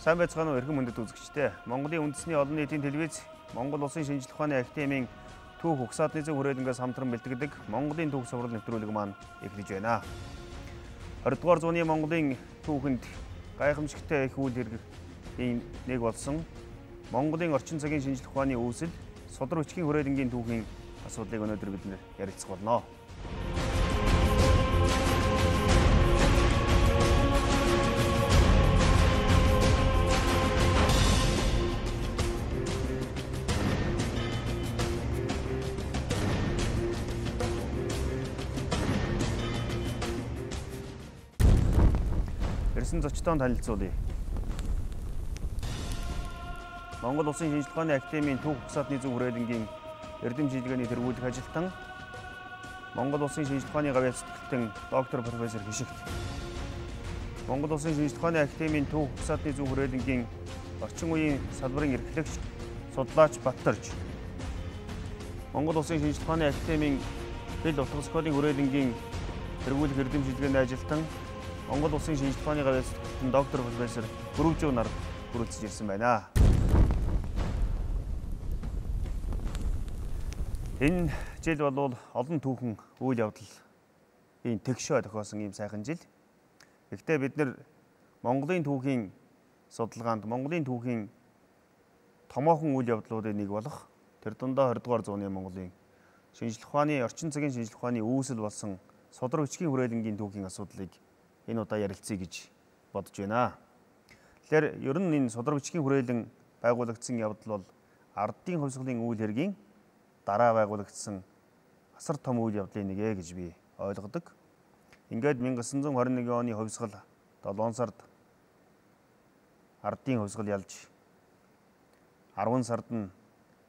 Сайн байцгаана уу эрхэм мөндөд үзэгчдээ. Монголын үндэсний олон нийтийн телевиз, Монгол Улсын шинжлэх ухааны академийн түүх угсаатны зөв хүрээлэнгээс хамтран бэлтгэдэг Монголын түүх сурвал нэвтрүүлэг маань эхэлж байна. 20 дугаар зууны Монголын түүхэнд гайхамшигтай их үйл хэргийн нэг болсон Монголын орчин цагийн шинжлэх ухааны үүсэл, содрог хүчгийн хүрээлэнгийн түүхийн асуудлыг өнөөдөр бид ярилцах болно. Ирсэн зочдоо танилцуулъя. Монгол Улсын шинжлэх ухааны академийн түүх угсаатны зөв хүрээлэнгийн эрдэм шийдвэрийн тэргүүлэх ажилтан, Монгол Улсын шинжлэх ухааны гавьяа сэтгэлтэн доктор профессор Хишигт, Монгол Улсын шинжлэх ухааны академийн түүх угсаатны зөв хүрээлэнгийн орчин үеийн салбарын эрхлэгч, судлаач Баттарж, Монгол Улсын шинжлэх ухааны академийн хэл утга зохиолын хүрээлэнгийн тэргүүлэх эрдэм шийдвэрийн ажилтан, Монгол Улсын шинжлэх ухааны гавьяа сэтгэлтэн доктор профессор Гүрвжүү нар хүрэлцэж ирсэн байна. Энэ жил бол олон түүхэн үйл явдлын тэгшөө тохиосон ийм сайхан жил. Гэхдээ бид нэр Монголын түүхийн судалгаанд, Монголын түүхийн томоохон үйл явдлуудын нэг болох тэр дундаа 20 дугаар зууны Монголын шинжлэх ухааны, орчин цагийн шинжлэх ухааны үүсэл болсон содрог хүчгийн хүрээлэнгийн түүхийн асуудлыг энэ удаа ярилцъя гэж бодож байна. Тэгэхээр ер нь энэ содрог хүчгийн хүрээлэн байгуулагдсан явдал бол ардын хувьсгалын үйл хэргийн дараа байгуулагдсан асар том үйл явдлын нэг гэж би ойлгодог. Ингээд 1921 оны хувьсгал 7 сард ардын хувьсгал ялж 10 сард нь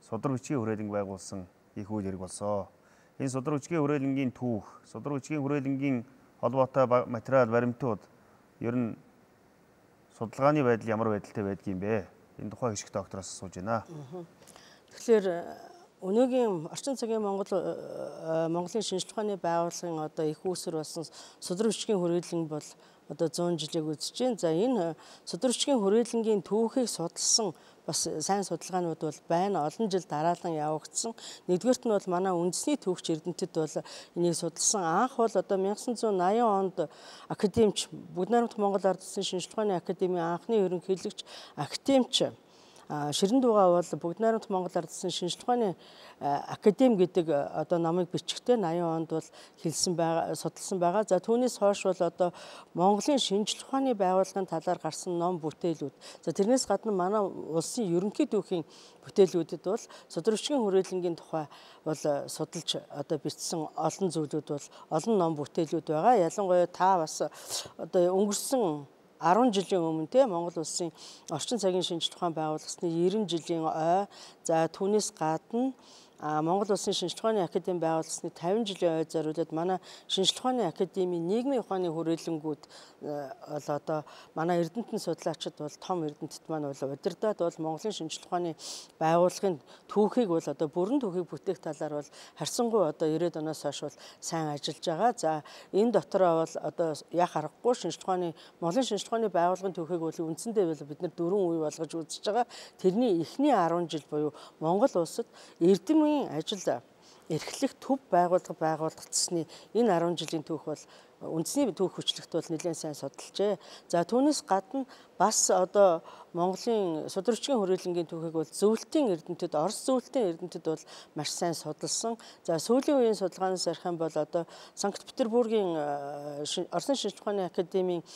содрог хүчгийн хүрээлэнг байгуулсан их үйл хэрэг болсон. Энэ содрог хүчгийн хүрээлэнгийн түүх, содрог хүчгийн хүрээлэнгийн холбоотой материал баримтууд ер нь судалгааны байдал ямар байдалтай байдгийм бэ? Энэ тухай Хишиг доктороос асууж байна. Тэгэхээр өнөөгийн орчин цагийн Монголын шинжлэх ухааны байгууллагын одоо их үүсвэр болсон содрог хүчгийн хүрээлэн бол одоо 100 жилийг үзэж байна. За энэ содрог хүчгийн хүрээлэнгийн түүхийг судалсан бас сайн судалгаанууд бол байна. Олон жил дараалан явагдсан. Нэгдүгээрт нь бол манай үндэсний түүхч эрдэмтэд бол энийг судалсан. Анх бол одоо 1980 онд академич Бүгд найрамдах Монгол Ард улсын шинжлэх ухааны академийн анхны ерөнхийлөгч академич Ширэн дуугаа бол Бүгд найрамдах Монгол Ард улсын шинжлэх ухааны академи гэдэг одоо номыг бичгтээ 80 онд бол судалсан байгаа. За түүнээс хойш бол одоо Монголын шинжлэх ухааны байгууллагын талаар гарсан ном бүтээлүүд. За тэрнээс гадна манай улсын ерөнхий түүхийн бүтээлүүдэд бол содрог хүчгийн хүрээлэнгийн тухай бол судалж одоо бичсэн олон зүйлүүд бол олон ном бүтээлүүд байгаа. Ялангуяа та бас одоо өнгөрсөн 10 жилийн өмнө Монгол Улсын орчин цагийн шинжлэх ухаан байгуулагдсны 90 жилийн ой, за түүнээс гадна Монгол Улсын шинжлэх ухааны академи байгуулагдсны 50 жилийн ой зориулаад манай шинжлэх ухааны академийн нийгмийн ухааны хүрээлэнгүүд бол одоо манай эрдэмтэн судлаачид бол том эрдэмтэд маань бол удирдаад бол Монголын шинжлэх ухааны байгууллагын түүхийг бол одоо бүрэн түүхийг бүтээх талаар бол харьцангуй одоо 90-ад оноос хойш бол сайн ажиллаж байгаа. За энэ дотороо бол одоо яах аргагүй Монголын шинжлэх ухааны байгууллагын түүхийг бол үндсэндээ бид нар 4 үе болгож үзэж байгаа. Тэрний эхний 10 жил буюу Монгол улсад эрдэм ажил эрхлэх төв байгуулагдсны энэ 10 жилийн түүх бол үндэсний түүх хүчлэгт бол нэлээд сайн судалжээ. За түүнээс гадна бас одоо Монголын содрог хүчгийн хүрээлэнгийн түүхийг бол зөвлөлтийн эрдэмтэд, Орос зөвлөлтийн эрдэмтэд бол маш сайн судалсан. За сүүлийн үеийн судалгаанаас ярих юм бол одоо Санкт-Петербургийн Оросын шинжлэх ухааны академийн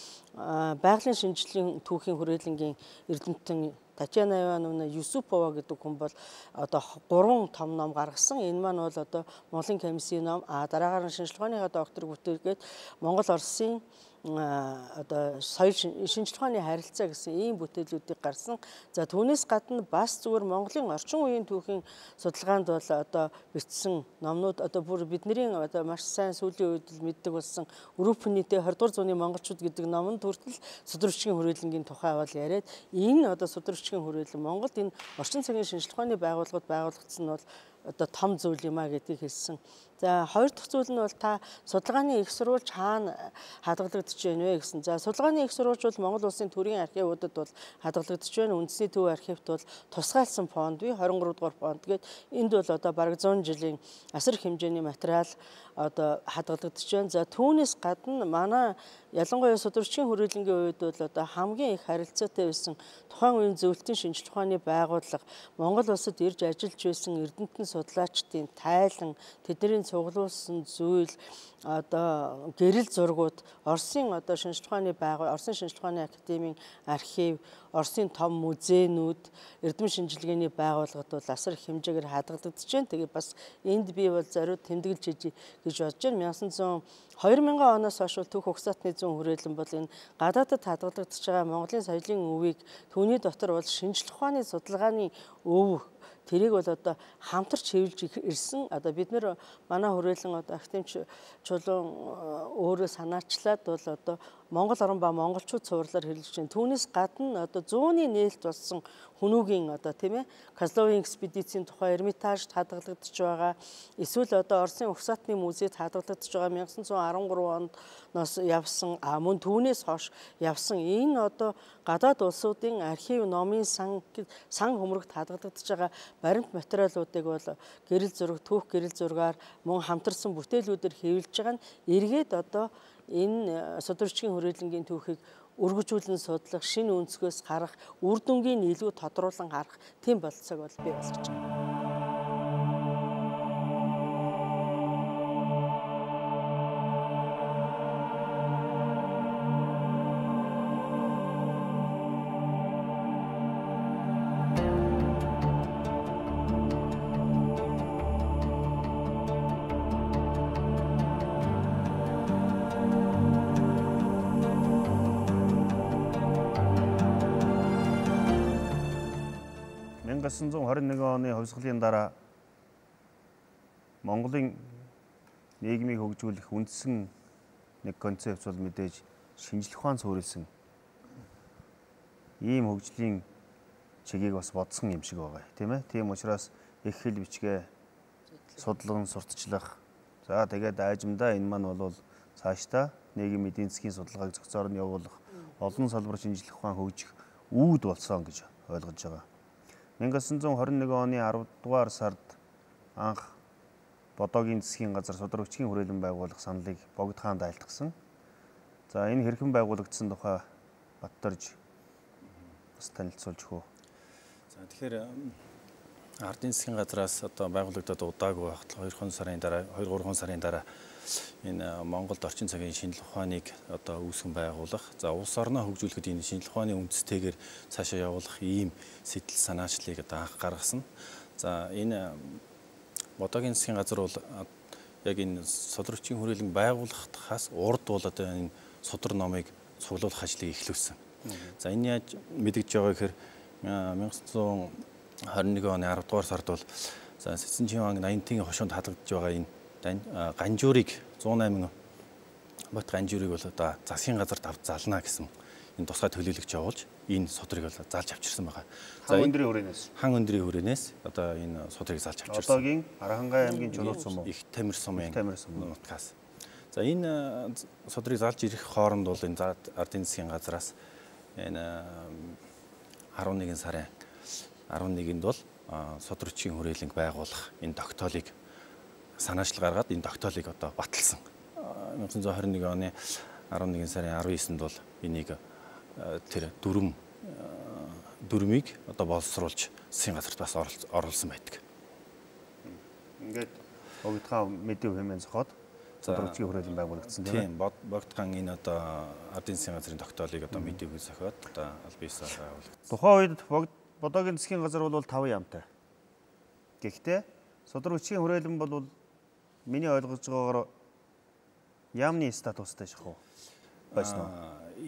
байгалийн шинжилгээний түүхийн хүрээлэнгийн эрдэмтэн Татьяна Ивановна Юсупова гэдэг хүн бол одоо 3 том ном гаргасан. Энэ маань бол одоо Монголын комиссийн ном, дараагаар нь шинжлэх ухааны докторыг бүтээгээд Монгол Оросын одоо соёл шинжлэх ухааны харилцаа гэсэн ийм бүтээлүүдийг гарсан. За түүнээс гадна бас зүгээр Монголын орчин үеийн түүхийн судалгаанд бол одоо бичсэн номнууд одоо бүр бидний одоо маш сайн сүүлийн үед мэддэг болсон Өрөвпүнийтэй 20 дугаар зууны монголчууд гэдэг номонд хүртэл содрог хүчгийн хүрээлэнгийн тухай бол яриад энэ одоо содрог хүчгийн хүрээлэн Монголд энэ орчин цагийн шинжлэх ухааны байгууллагууд байгуулагдсан нь бол одоо том зүйл юм а гэдгийг хэлсэн. За хоёр дахь зүйл нь бол та судалгааны их сурвалж хаана хадгалагдаж байна вэ гэсэн. За судалгааны их сурвалж бол Монгол улсын төрийн архивуудад бол хадгалагдаж байна. Үндэсний төв архивт бол тусгайлсан фонд бий 23 дугаар фонд гээд энд бол одоо бараг 100 жилийн асар хэмжээний материал одоо хадгалагдаж байна. За түүнээс гадна манай ялангуяа судрагчийн хүрээлэнгийн үед бол одоо хамгийн их харилцаатай байсан тухайн үеийн зөвлөлтийн шинжилгээ ухааны байгууллага Монгол улсад ирж ажиллаж байсан эрдэмтэн судлаачдын тайлан тэдний цуглуулсан зүйл одоо гэрэл зургууд Оросын одоо шинжилгээ ухааны байгууллага Оросын шинжилгээ ухааны академийн архив Оросын том музейнүүд эрдэм шинжилгээний байгууллагад бол асар их хэмжээгээр хадгалагдаж байна. Тэгээ бас энд би бол зориуд тэмдэглэж хийж гэж бодож байна. 2000 оноос хойш Түүх угсаатны зүүн хүрээлэн бол энэ гадаадад хадгалагдаж байгаа Монголын соёлын өвийг түүний дотор бол шинжилгээ ухааны судалгааны өв тэрийг бол одоо хамтарч хэвлж ирсэн. Одоо бид нэр манай хүрээлэн одоо академич чулуун өөрөө санаачлаад бол одоо Монгол орн ба монголчууд цувралаар хэлж байна. Түүнээс гадна одоо зууны нээлт болсон хүнүүгийн одоо тийм ээ Козловын экспедицийн тухай Эрмитажд хадгалагдаж байгаа. Эсвэл одоо Оросын угсаатны музейд хадгалагдаж байгаа 1913 оноос явсан мөн түүнээс хойш явсан энэ одоо гадаад улсуудын архив номын сан хөмрөгт хадгалагдаж байгаа баримт материалуудыг бол гэрэл зураг түүх гэрэл зургаар мөн хамтарсан бүтээлүүдээр хэвлэж байгаа нь эргээд одоо энэ судрагчийн хүрээлэнгийн түүхийг өргөжүүлэн судлах, шинэ өнцгөөс харах, үр дүнгийн илүү тодруулан харах тийм болцоог бол бий болгож байна. Гэсэн 1921 оны хувьсгалын дараа Монголын нийгмийг хөгжүүлэх үндсэн нэг концепц бол мэдээж шинжлэх ухаан суурилсан ийм хөгжлийн чигийг бас бодсон юм шиг байгаа тийм ээ. Тийм учраас их хэл бичгээ судалган сурталчлах. За тэгээд аажимдаа энэ маань бол цаашдаа нийгмийн эдийн засгийн судалгааг зохицоор нь явуулах олон салбар шинжлэх ухаан хөгжих үүд болсон гэж ойлгож байгаа. 1921 оны 10 дугаар сард анх Бодоогийн засгийн газар судрагчийн хүрээлэн байгуулах саналыг Богд хаанд айлтгсан. За энэ хэрхэн байгуулагдсан тухай Батторж бас танилцуулж өгөө. За тэгэхээр ардын засгийн газраас одоо байгуулагдаад удаагүй байхад 2-3 сарын дараа энэ Монголд орчин цагийн шинжлэх ухааныг одоо үүсгэн байгуулах. За улс орноо хөгжүүлэхэд энэ шинжлэх ухааны үндэстэйгээр цаашаа явуулах ийм сэтэл санаачлалыг одоо анх гаргасан. За энэ Бодоогийн засгийн газар бол яг энэ судрагчийн хүрээлэн байгуулахаас урд бол одоо энэ судар номыг цуглуулах ажлыг эхлүүлсэн. За энэ яаж мэдэгдэж байгаа гэхээр 1921 оны 10 дугаар сард бол за Сэцэн Чимаан 80-ийн хошуунд хадгалж байгаа энэ ганжуурыг 108 бот ганжуурыг бол одоо засгийн газарт авч зална гэсэн энэ тусгай төлөөлөгч явуулж энэ судрыг бол залж авчирсан байгаа. За өндрийн хүрээнээс хан өндрийн хүрээнээс одоо энэ судрыг залж авчирсан. Одоогийн Архангай аймгийн чулуу сум их Тамир сумын нутгаас. За энэ судрыг залж ирэх хооронд бол энэ ардын засгийн газраас энэ 11 сарын 11-нд бол судрагчийн хүрээлэнг байгуулах энэ тогтоолыг санаачлал гаргаад энэ тогтоолыг одоо баталсан. 1921 оны 11 сарын 19-нд бол энийг тэр дүрмийг одоо боловсруулж засгийн газарт бас оруулсан байдаг. Ингээд Богдхан мэдээ хэмээн зохиод судрагчийн хүрээлэн байгуулагдсан тийм Богдхан энэ одоо ардын засгийн газрын тогтоолыг одоо мэдээгүй зохиод одоо аль биесээр байгуулагдсан. Тухайн үед Бодоогийн засгийн газар бол 5 яамтай. Гэхдээ судрагчийн хүрээлэн бол миний ойлгож байгаагаар яамны статустай шахуу байсан уу?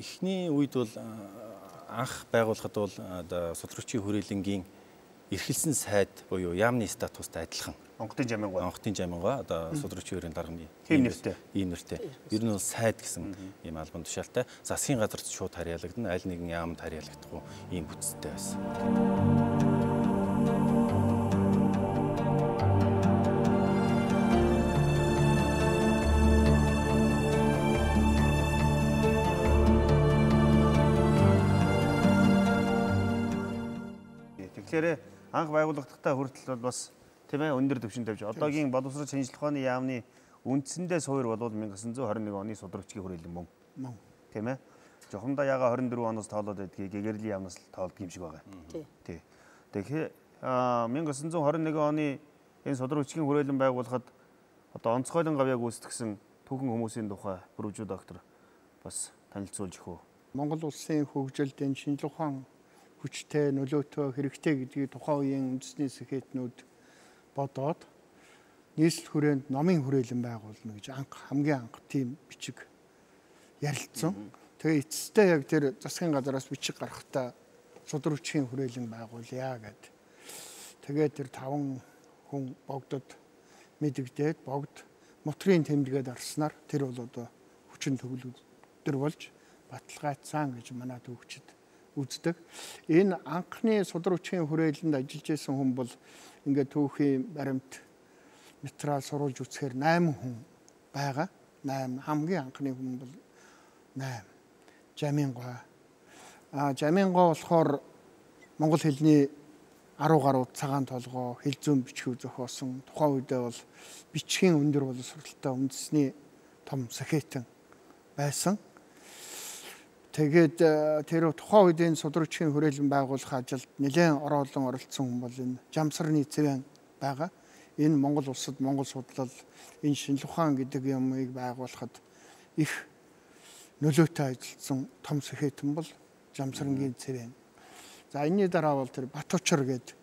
Эхний үед бол анх байгуулахад бол судрагчийн хүрээлэнгийн эрхэлсэн сайд буюу яамны статустай адилхан. Онготын жамингаа одоо судрагчийн хүрээний дарганы ийм нэртэй. Ер нь бол сайд гэсэн ийм албан тушаалтай. Засгийн газарт шууд харьяалагдана, аль нэгэн яамд харьяалагдахгүй ийм бүтцтэй байсан. Тэгэхээр анх байгуулагдахтаа хүртэл бол бас тийм ээ өндөр түвшин тавьж одоогийн боловсрол шинжилгээ ухааны яамны үндсэндээ суур бол 1921 оны судрагчгийн хүрээлэн мөн. Тийм ээ. Жохомдоо яга 24 оноос тоолоод байдгийг гэгэрлийн яамнаас тоолдог юм шиг байгаа. Тий. Тэгэхээр 1921 оны энэ судрагчгийн хүрээлэн байгуулахад одоо онцгойлон гавьяаг үүсгэсэн түүхэн хүмүүсийн тухай бүрвжүү доктор бас танилцуулж өгөө. Монгол улсын хөгжилд энэ шинжилгээ ухаан хүчтэй нөлөөтэй хэрэгтэй гэдгийг тухайн үеийн үндэсний сэхэтнүүд бодоод нийслэл хүрээнд номын хүрээлэн байгуулна гэж хамгийн анх тийм бичиг ярилцсан. Тэгээ эцэстээ яг тэр засгийн газараас бичиг гаргахтаа судрагчийн хүрээлэн байгуулъя гэд. Тэгээ тэр 5 хүн богдод мэдэгдээд богд мотрийн тэмдэгэд арснаар тэр бол одоо хүчин төгөлдөр болж баталгаажсан гэж манай төвчд үздэг. Энэ анхны судрагчийн хүрээлэнд ажиллаж исэн хүн бол ингээд түүхийн баримт материал сурулж үзэхээр 8 хүн байгаа. 8 хамгийн анхны хүн бол 8. Жамингой. Жамингой болохоор монгол хэлний 10 гаруй цагаан толгой, хэл зүйн бичгүү зохиосон. Тухайн үедээ бол бичгийн өндөр боловсролтой үндэсний том сэхэтэн байсан. Тэгээд тэр тухайн үед энэ судрагчийн хүрээлэн байгуулах ажилд нэлээд ороолон оролцсон хүн бол энэ Жамсарны Цэвэн байгаа. Энэ Монгол улсад Монгол судлал энэ шинжилгээ ухаан гэдэг юмыг байгуулахад их нөлөөтэй ажилласан том сэхэтэн бол Жамсарны Цэвэн. За энэний дараа бол тэр Батучар гэдэг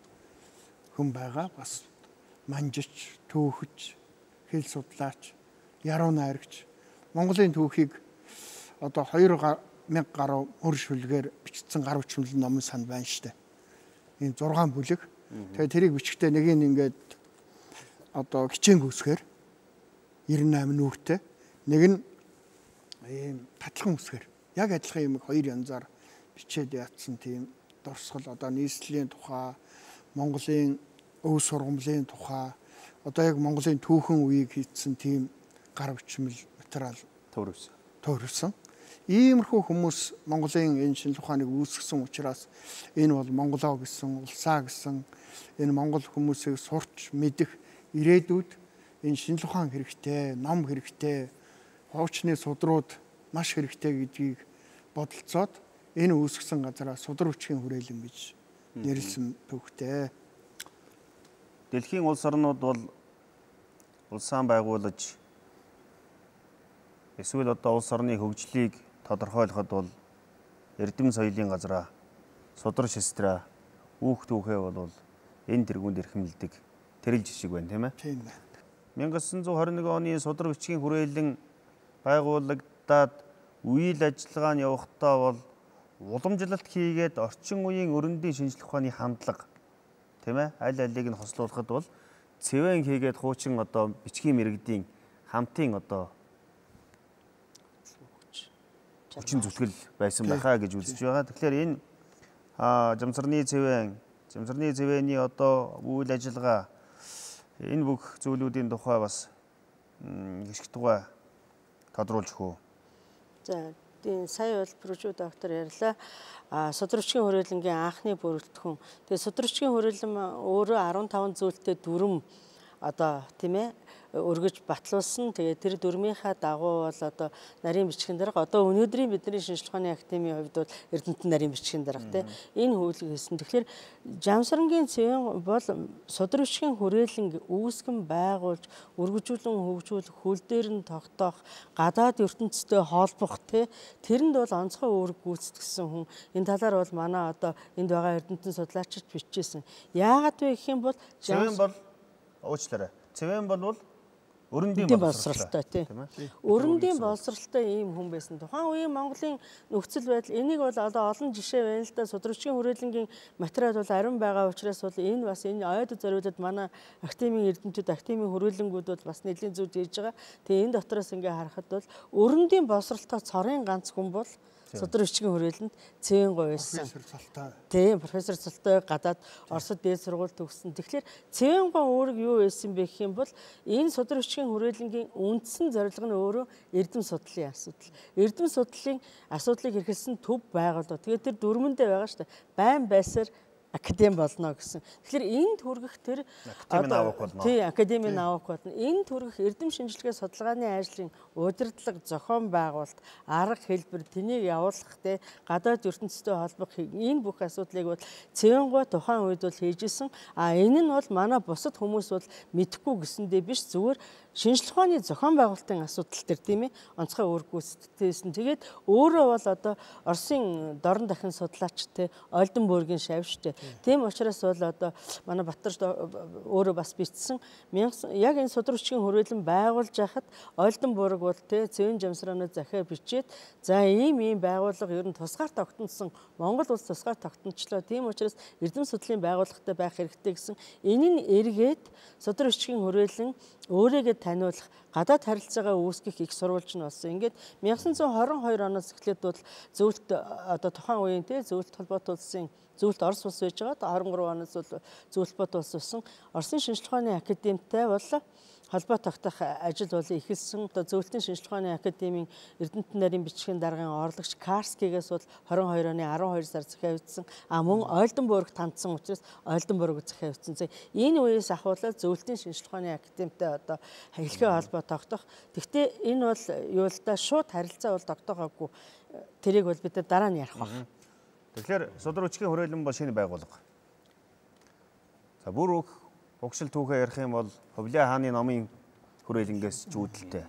хүн байгаа. Бас манжич, түүхч, хэл судлаач, яруу найрагч. Монголын түүхийг одоо 2000 гаруй өр шүлгээр бичсэн гар хүчмэл номын санд байна штэ. Энэ 6 бүлэг. Тэгээ тэрийг бичихдээ нэг нь ингээд одоо хичээн үсгээр 98 нүхтэй, нэг нь ийм татлан үсгээр. Яг адилхан юм хоёр янзаар бичээд яатсан тийм дурсгал одоо нийслэлийн тухай, Монголын өв сургамлын тухай, одоо яг Монголын түүхэн үеийг хийцэн тийм гар хүчмэл материал төвөрсөн. Иймэрхүү хүмүүс Монголын энэ шинжилгээ ухааныг үүсгэсэн учраас энэ бол Монголоо гэсэн, улсаа гэсэн энэ монгол хүмүүсийг сурч мэдэх ирээдүйд энэ шинжилгээ ухаан хэрэгтэй, ном хэрэгтэй, хуучны судрууд маш хэрэгтэй гэдгийг бодолцоод энэ үүсгэсэн газараа судрагчийн хүрээлэн гэж нэрлсэн төвхтэй. Дэлхийн улс орнууд бол улсаан байгуулж эсвэл одоо улс орны хөгжлийг тодорхойлоход бол эрдэм соёлын газраа, судраг шестраа, үүх түүхээ бол энэ тэргуунд эрхэмлдэг тэрэл жишг байна, тийм ээ? Тийм байна. 1921 оны судраг бичгийн хүрээлэн байгуулагдаад үйл ажиллагааны явахдаа бол уламжлалт хийгээд орчин үеийн өрөндийн шинжилгээ ухааны хандлага тийм ээ аль алийг нь хослуулахад бол цэвэн хийгээд хуучин одоо бичгийн мэрэгдийн хамтын одоо хүчин зүтгэл байсан байхаа гэж үзэж байгаа. Тэгэхээр энэ Жамсарны Цэвэний одоо үйл ажиллагаа энэ бүх зүйлүүдийн тухай бас гიშг тугай тодруулж өгөө. За тийм сая бол бүржүү доктор ярьлаа. Судрагчгийн хүрээлэнгийн анхны бүрэлдэхүүн. Тэгээ судрагчгийн хүрээлэн өөрөө 15 зүйлтэй дүрм одоо тийм ээ өргөж батлуулсан. Тэгээ тэр дүрмийнхаа дагуу бол одоо нарийн бичгийн дарга одоо өнөөдрийн бидний шинжилгээ ухааны академийн хувьд бол Эрдэнэтэн нарийн бичгийн дарга тийм энэ хөвлөг хийсэн. Тэгэхээр Жамсарнгийн Цэвэн бол судрагчгийн хүрээлэн үүсгэн байгуулж өргөжүүлэн хөгжүүлэх, хөл дээр нь тогтоох, гадаад ертөнцтэй холбох тэрэнд бол онцгой үүрэг гүйцэтгсэн хүн. Энэ талаар бол манай одоо энд байгаа Эрдэнэтэн судлаачид бичижсэн. Яагаад вэ гэх юм бол Цэвэн бол уучлаарай. Цэвэн бол өрөндийн боловсралтай тийм. Өрөндийн боловсралтай ийм хүн байсан. Тухайн үеийн Монголын нөхцөл байдал энийг бол одоо олон жишээ байна л да. Судрагчгийн хүрээлэнгийн материал бол ариун байгаа учраас бол энэ бас энэ ойд зориулаад манай академийн эрдэмтдүүд, академийн хүрээлэнгүүд бол бас нэлийн зүйл хийж байгаа. Тэгээ энэ дотроос ингээ харахад бол өрөндийн боловсралтай цорын ганц хүн бол судрагчгийн хүрээлэнд Цэвэн байсан. Тийм, профессор Цолтой гадаад Оросд дээд сургууль төгссөн. Тэгэхээр Цэвэн үүрэг юу байсан бэ гэх юм бол энэ судрагчгийн хүрээлэнгийн үндсэн зорилго нь өөрөө эрдэм судлалын асуудал. Эрдэм судлалын асуудлыг эрхэлсэн төв байгууллага. Тэгээд тэр дөрмөндөө байгаа шүү дээ. Байн байсаар академи болно гэсэн. Тэгэхээр энэ төргөх тэр академийн авах болно. Энэ төргөх эрдэм шинжилгээ судалгааны ажлын удирдлага, зохион байгуулалт, арга хэлбэр, тэнийг явуулах те гадаад ертөнцтэй холбох энэ бүх асуудлыг бол цэвэнгуй тухайн үед бол хийжсэн. Энэ нь бол манай бусад хүмүүс бол мэдэхгүй гэсэндээ биш, зүгээр шинжлэх ухааны зохион байгуулалтын асуудал төр тийм ээ онцгой үр гүйцэтгэсэн. Тэгээд өөрөө бол одоо Оросын дорн дахин судлаачтай Ольденбургийн шавьчтай. Тийм учраас бол одоо манай Батар өөрөө бас бичсэн яг энэ судрагчгийн хүрээлэн байгуулж яхад Ольденбург бол тий цэвэн жамсраанууд захиа бичээд за ийм байгууллага ер нь тусгаар тогтносон Монгол улс тусгаар тогтночлоо. Тийм учраас эрдэм судлалын байгууллагатай байх хэрэгтэй гэсэн. Энэ нь эргээд судрагчгийн хүрээлэн өөрийгөө таниулах, гадаад харилцаагаа үүсгэх их сурвалж нь болсон. Ингээд 1922 оноос эхлээд бол зөвлөлт одоо тухайн үеийн тий зөвлөлт холбоот улсын зөвлөлт Орос улс байж байгаа. 23 оноос бол зөвлөлт бод улс болсон. Оросын шинжлэх ухааны академитай бол холбоо тогтоох ажил бол эхэлсэн. Одоо зөвлөлтийн шинжлэх ухааны академийн Эрдэнэт нарийн бичгийн даргын орлогч Карскигээс бол 22 оны 12 сар захиавдсан. Мөн Ольденбург тандсан учраас Ольденбург захиавдсан. Энэ үеэс ахуулаад зөвлөлтийн шинжлэх ухааны академитай одоо хэлхээ холбоо тогтоох. Гэхдээ энэ бол юу л да шууд харилцаа бол тогтоогоогүй. Тэрийг бол бид дараа нь ярих байна. Тэгэхээр судрагчгийн хүрээлэн бол шинэ байгууллага. За бүр угшил түүхээ ярих юм бол Хувлаа хааны номын хүрээлэнгээс ч үүдэлтэй.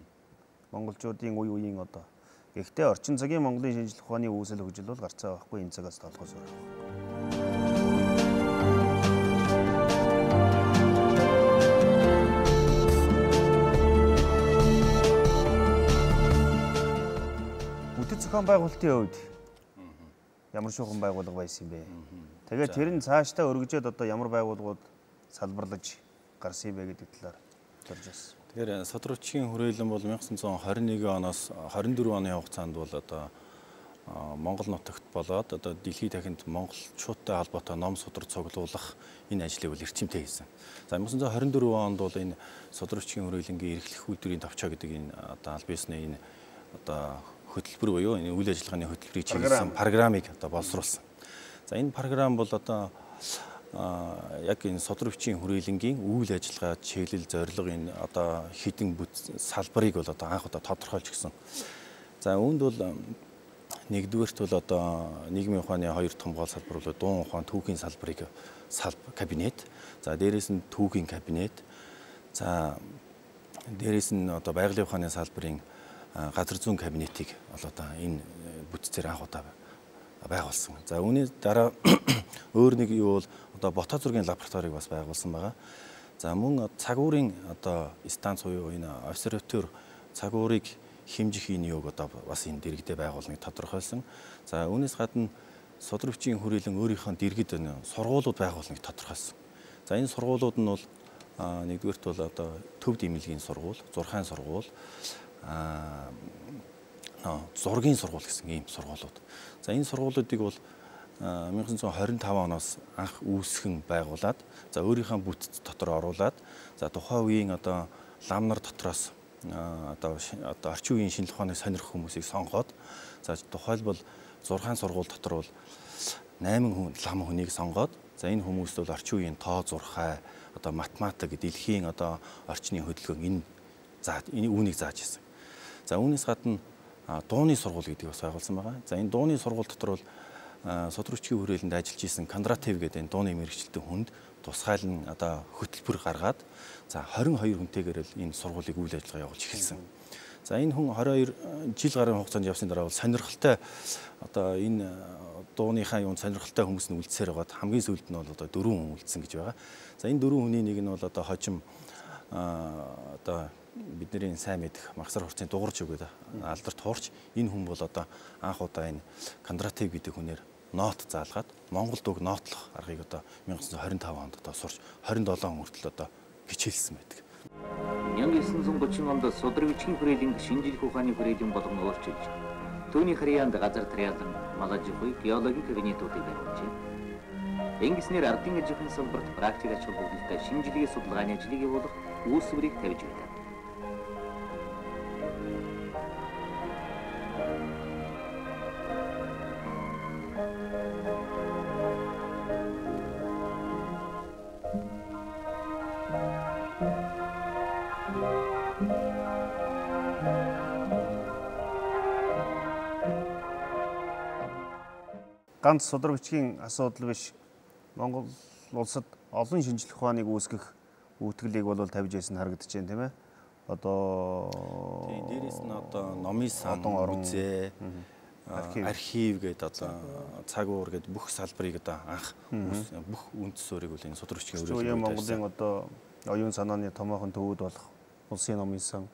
Монголчуудын үе үеийн одоо. Гэхдээ орчин цагийн Монголын шинжлэх ухааны үүсэл хөгжил бол гарцаа байхгүй энэ цагаас толгойс өөр. Бүтэц зохион байгуулалтын хувьд ямар шуухан байгууллага байсан юм бэ? Тэгээд тэр нь цаашдаа өргөжөөд одоо ямар байгууллагууд салбарлаж гарсан юм бэ гэдэг талаар төрж байна. Тэгэхээр судрагчгийн хүрээлэн бол 1921 оноос 24 оны хугацаанд бол одоо Монгол нутагт болоод одоо дэлхийн дахинд монголчуудтай холбоотой ном судар цуглуулах энэ ажлыг бол эрчимтэй хийсэн. За 1924 онд бол энэ судрагчгийн хүрээлэнгийн эрхлэх үйлдвэрийн товчоо гэдэг энэ одоо аль биесний энэ одоо хөтөлбөр буюу энэ үйл ажиллагааны хөтөлбөрийг чиглэсэн программыг одоо боловсруулсан. За энэ програм бол одоо яг энэ судрагчийн хүрээлэнгийн үйл ажиллагаа чиглэл зорилго энэ одоо хэдэн салбарыг бол одоо анх удаа тодорхойлж гисэн. За үүнд бол нэгдүгээрт бол одоо нийгмийн ухааны хоёр том гол салбар бол дуун ухаан түүхийн салбарыг кабинет. За дээрээс нь түүхийн кабинет. За дээрээс нь одоо байгалийн ухааны салбарын газар зүйн кабинетийг бол одоо энэ бүтцээр анх удаа байгуулсан. За үүний дараа өөр нэг юу бол одоо бота зургийн лабораторийг бас байгуулсан байгаа. За мөн цагуурын одоо станц буюу энэ обсерватор цагуурыг хэмжих энэ юуг одоо бас энэ дэргэдээ байгуулныг тодорхойлсон. За үүнээс гадна судрагчийн хүрээлэн өөрийнхөө дэргэд сургуулиуд байгуулныг тодорхойлсон. За энэ сургуулиуд нь бол нэгдүгээрт бол одоо төв дэмэлгийн сургууль, зурхайн сургууль, зургийн сургууль гэсэн ийм сургуулиуд. За энэ сургуулиудыг бол 1925 оноос анх үүсгэн байгуулад за өөрийнхөө бүтц дотор оруулад за тухайн үеийн одоо лам нар дотроос одоо орчин үеийн шинжлэх ухааны сонирх хүмүүсийг сонгоод за тухайлбал 6 сургууль дотор бол 8 лам хүнийг сонгоод за энэ хүмүүст бол орчин үеийн тоо зурхай одоо математик дэлхийн одоо орчны хөдөлгөөн энэ үүнийг зааж ирсэн. За үүнээс гадна дууны сургууль гэдэг бас байгуулсан байгаа. За энэ дууны сургууль дотор бол судрагчгийн хүрээлэнд ажиллаж исэн Кондратьев гэдэг энэ дууны мэргэжилтэн хүнд тусгайлан одоо хөтөлбөр гаргаад за 22 хүнтэйгээр л энэ сургуулийг үйл ажиллагаа явуулж эхэлсэн. За энэ хүн 22 жил гарын хугацаанд явсны дараа бол сонирхолтой одоо энэ дууныхаа юунд сонирхолтой хүмүүс нь үлдсээр байгаад хамгийн сүүлд нь бол одоо 4 хүн үлдсэн гэж байгаа. За энэ 4 хүний нэг нь бол одоо хожим одоо бидний сайн мэдэх Магсар хурцын дугарч өгөөд алдарт хуурч энэ хүн бол одоо анх удаа энэ Кондратьев гэдэг хүнээр нот заалгаад Монголд уг нотлох аргыг одоо 1925 онд одоо сурч 27 хүртэл одоо хичээлсэн байдаг. 1930 онд судрагчгийн хүрээлэн шинжлэх ухааны хүрээлэн болгон өөрчилж түүний харьяанд газар тариалан малажгүй геологийн кабинетуудыг барьжээ. Ингэснээр ардын ажихын салбарт практик ач холбогдолтой шинжилгээ судалгааны ажлыг явуулах үүсвэрийг тавьж байдаг. Ганц судар бичгийн асуудал биш. Монгол улсад олон шинжлэх ухааныг үүсгэх үүтгэлийг бол тавьж байсан харагдаж байна, тийм ээ. Одоо дээрээс нь одоо номын сан, орон музей, архив гэдэг одоо цаг уур гэдэг бүх салбарыг одоо анх бүх үндэс суурийг бол энэ судар бичгийн хүрээлэн Монголын одоо оюун санааны томоохон төвүүд болох улсын номын сан,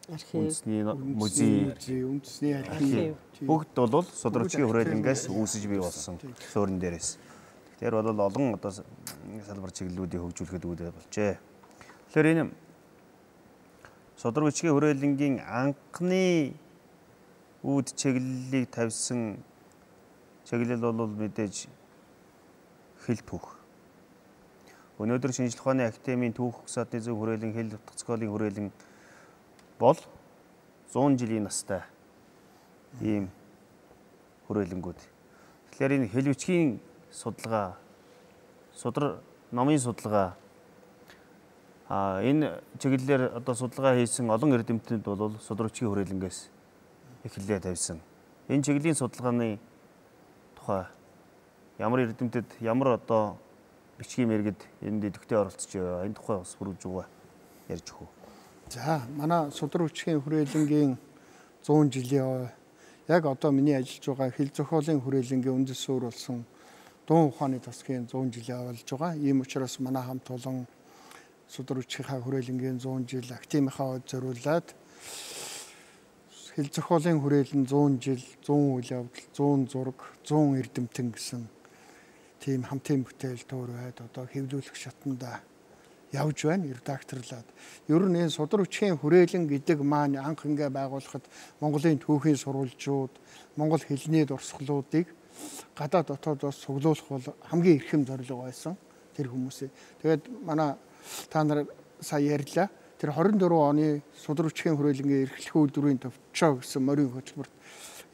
үндэсний музей, үндэсний архив бүгд бол судар бичгийн хүрээлэнгээс үүсэж бий болсон суурин дээрээс. Тэр бол олон одоо салбар чиглэлүүдийг хөгжүүлэхэд үүдээ болжээ. Тэгэхээр энэ судар бичгийн хүрээлэнгийн анхны үүд чиглэлийг тавьсан чиглэл бол мэдээж хэл түүх. Өнөөдөр шинжлэх ухааны академийн түүх угсаатны зөв хүрээлэн, хэл утгасколын хүрээлэн бол 100 жилийн настай ийм хүрээлэнгүүд. Тэгэхээр энэ хэл бичгийн судалгаа, судар номын судалгаа энэ чиглэлээр одоо судалгаа хийсэн олон эрдэмтнүүд бол судар бичгийн хүрээлэнгээс эхлэлээ тавьсан. Энэ чиглэлийн судалгааны тухай ямар эрдэмтэд ямар одоо бичгийн мэргэд энд идэвхтэй оролцож байгаа. Энэ тухай бас бүрж байгаа ярьж өгөө. За, манай судар бичгийн хүрээлэнгийн 100 жилийн яг одоо миний ажиллаж байгаа хэл зохиолын хүрээлэнгийн үндэс суурь болсон дуун ухааны тасгийн 100 жилийн болж байгаа. Ийм учраас манай хамт олон судар бичгийн хүрээлэнгийн 100 жил академийнхаа зориулаад хэл зохиолын хүрээлэн 100 жил, 100 үйл явдал, 100 зураг, 100 эрдэмтэн гэсэн тийм хамтын бүтээл төөрөөд одоо хэвлүүлэх шатанда явж байна, редакторлаад. Ер нь энэ судар бичгийн хүрээлэн гэдэг маань анх ингээ байгуулахад Монголын түүхийн сурвалжууд, Монгол хэлний дурсгалуудыг гадаад дотоодоос цуглуулах бол хамгийн эрхэм зорилго байсан тэр хүмүүсээ. Тэгээд манай та нар сая ярьлаа. Тэр 24 оны судар бичгийн хүрээлэнгийн эрхлэх үйлдвэрийн төвчөө гэсэн морин хөтөлбөрт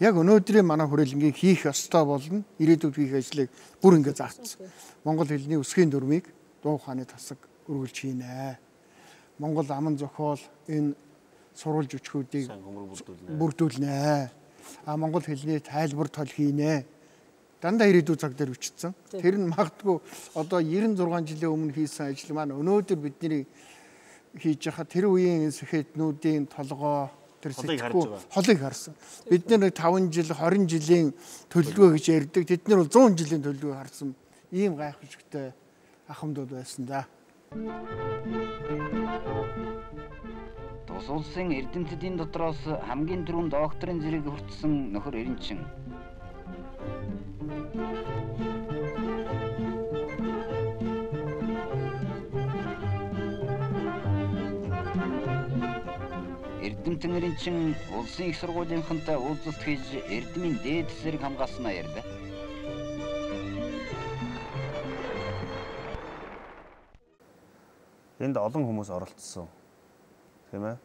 яг өнөөдрийн манай хүрээлэнгийн хийх ёстой болно. Ирээдүйд хийх ажлыг бүр ингээ заагдсан. Монгол хэлний өсгийн дүрмийг дуу ухааны тасаг өргөлж хийнэ. Монгол аман зохиол энэ сурвалж өчгүүдийг бүрдүүлнэ. Монгол хэлний тайлбар тол хийнэ. Дандаа ирээдүйн цаг дээр бичсэн. Тэр нь магадгүй одоо 96 жилийн өмнө хийсэн ажил маань өнөөдөр бидний хийж байгаа тэр үеийн сэхэтнүүдийн толгой тэр сэтгүү холыг харсан. Бид нэр 5 жил 20 жилийн төлөвлөгөө гэж ярьдаг. Тэд нар бол 100 жилийн төлөвлөгөө харсан. Ийм гайхамшигтай ахмадууд байсан да. Тус улсын эрдэмтдийн дотроос хамгийн түрүүнд докторийн зэрэг хүртсэн нөхөр Эренчин. Эрдэмтэн Эренчин улсын их сургуулийнхантай уулзалт хийж эрдмийн дээд зэрэг хамгаалснаа ярьлаа. Энд олон хүмүүс оролцсон. Тийм ээ.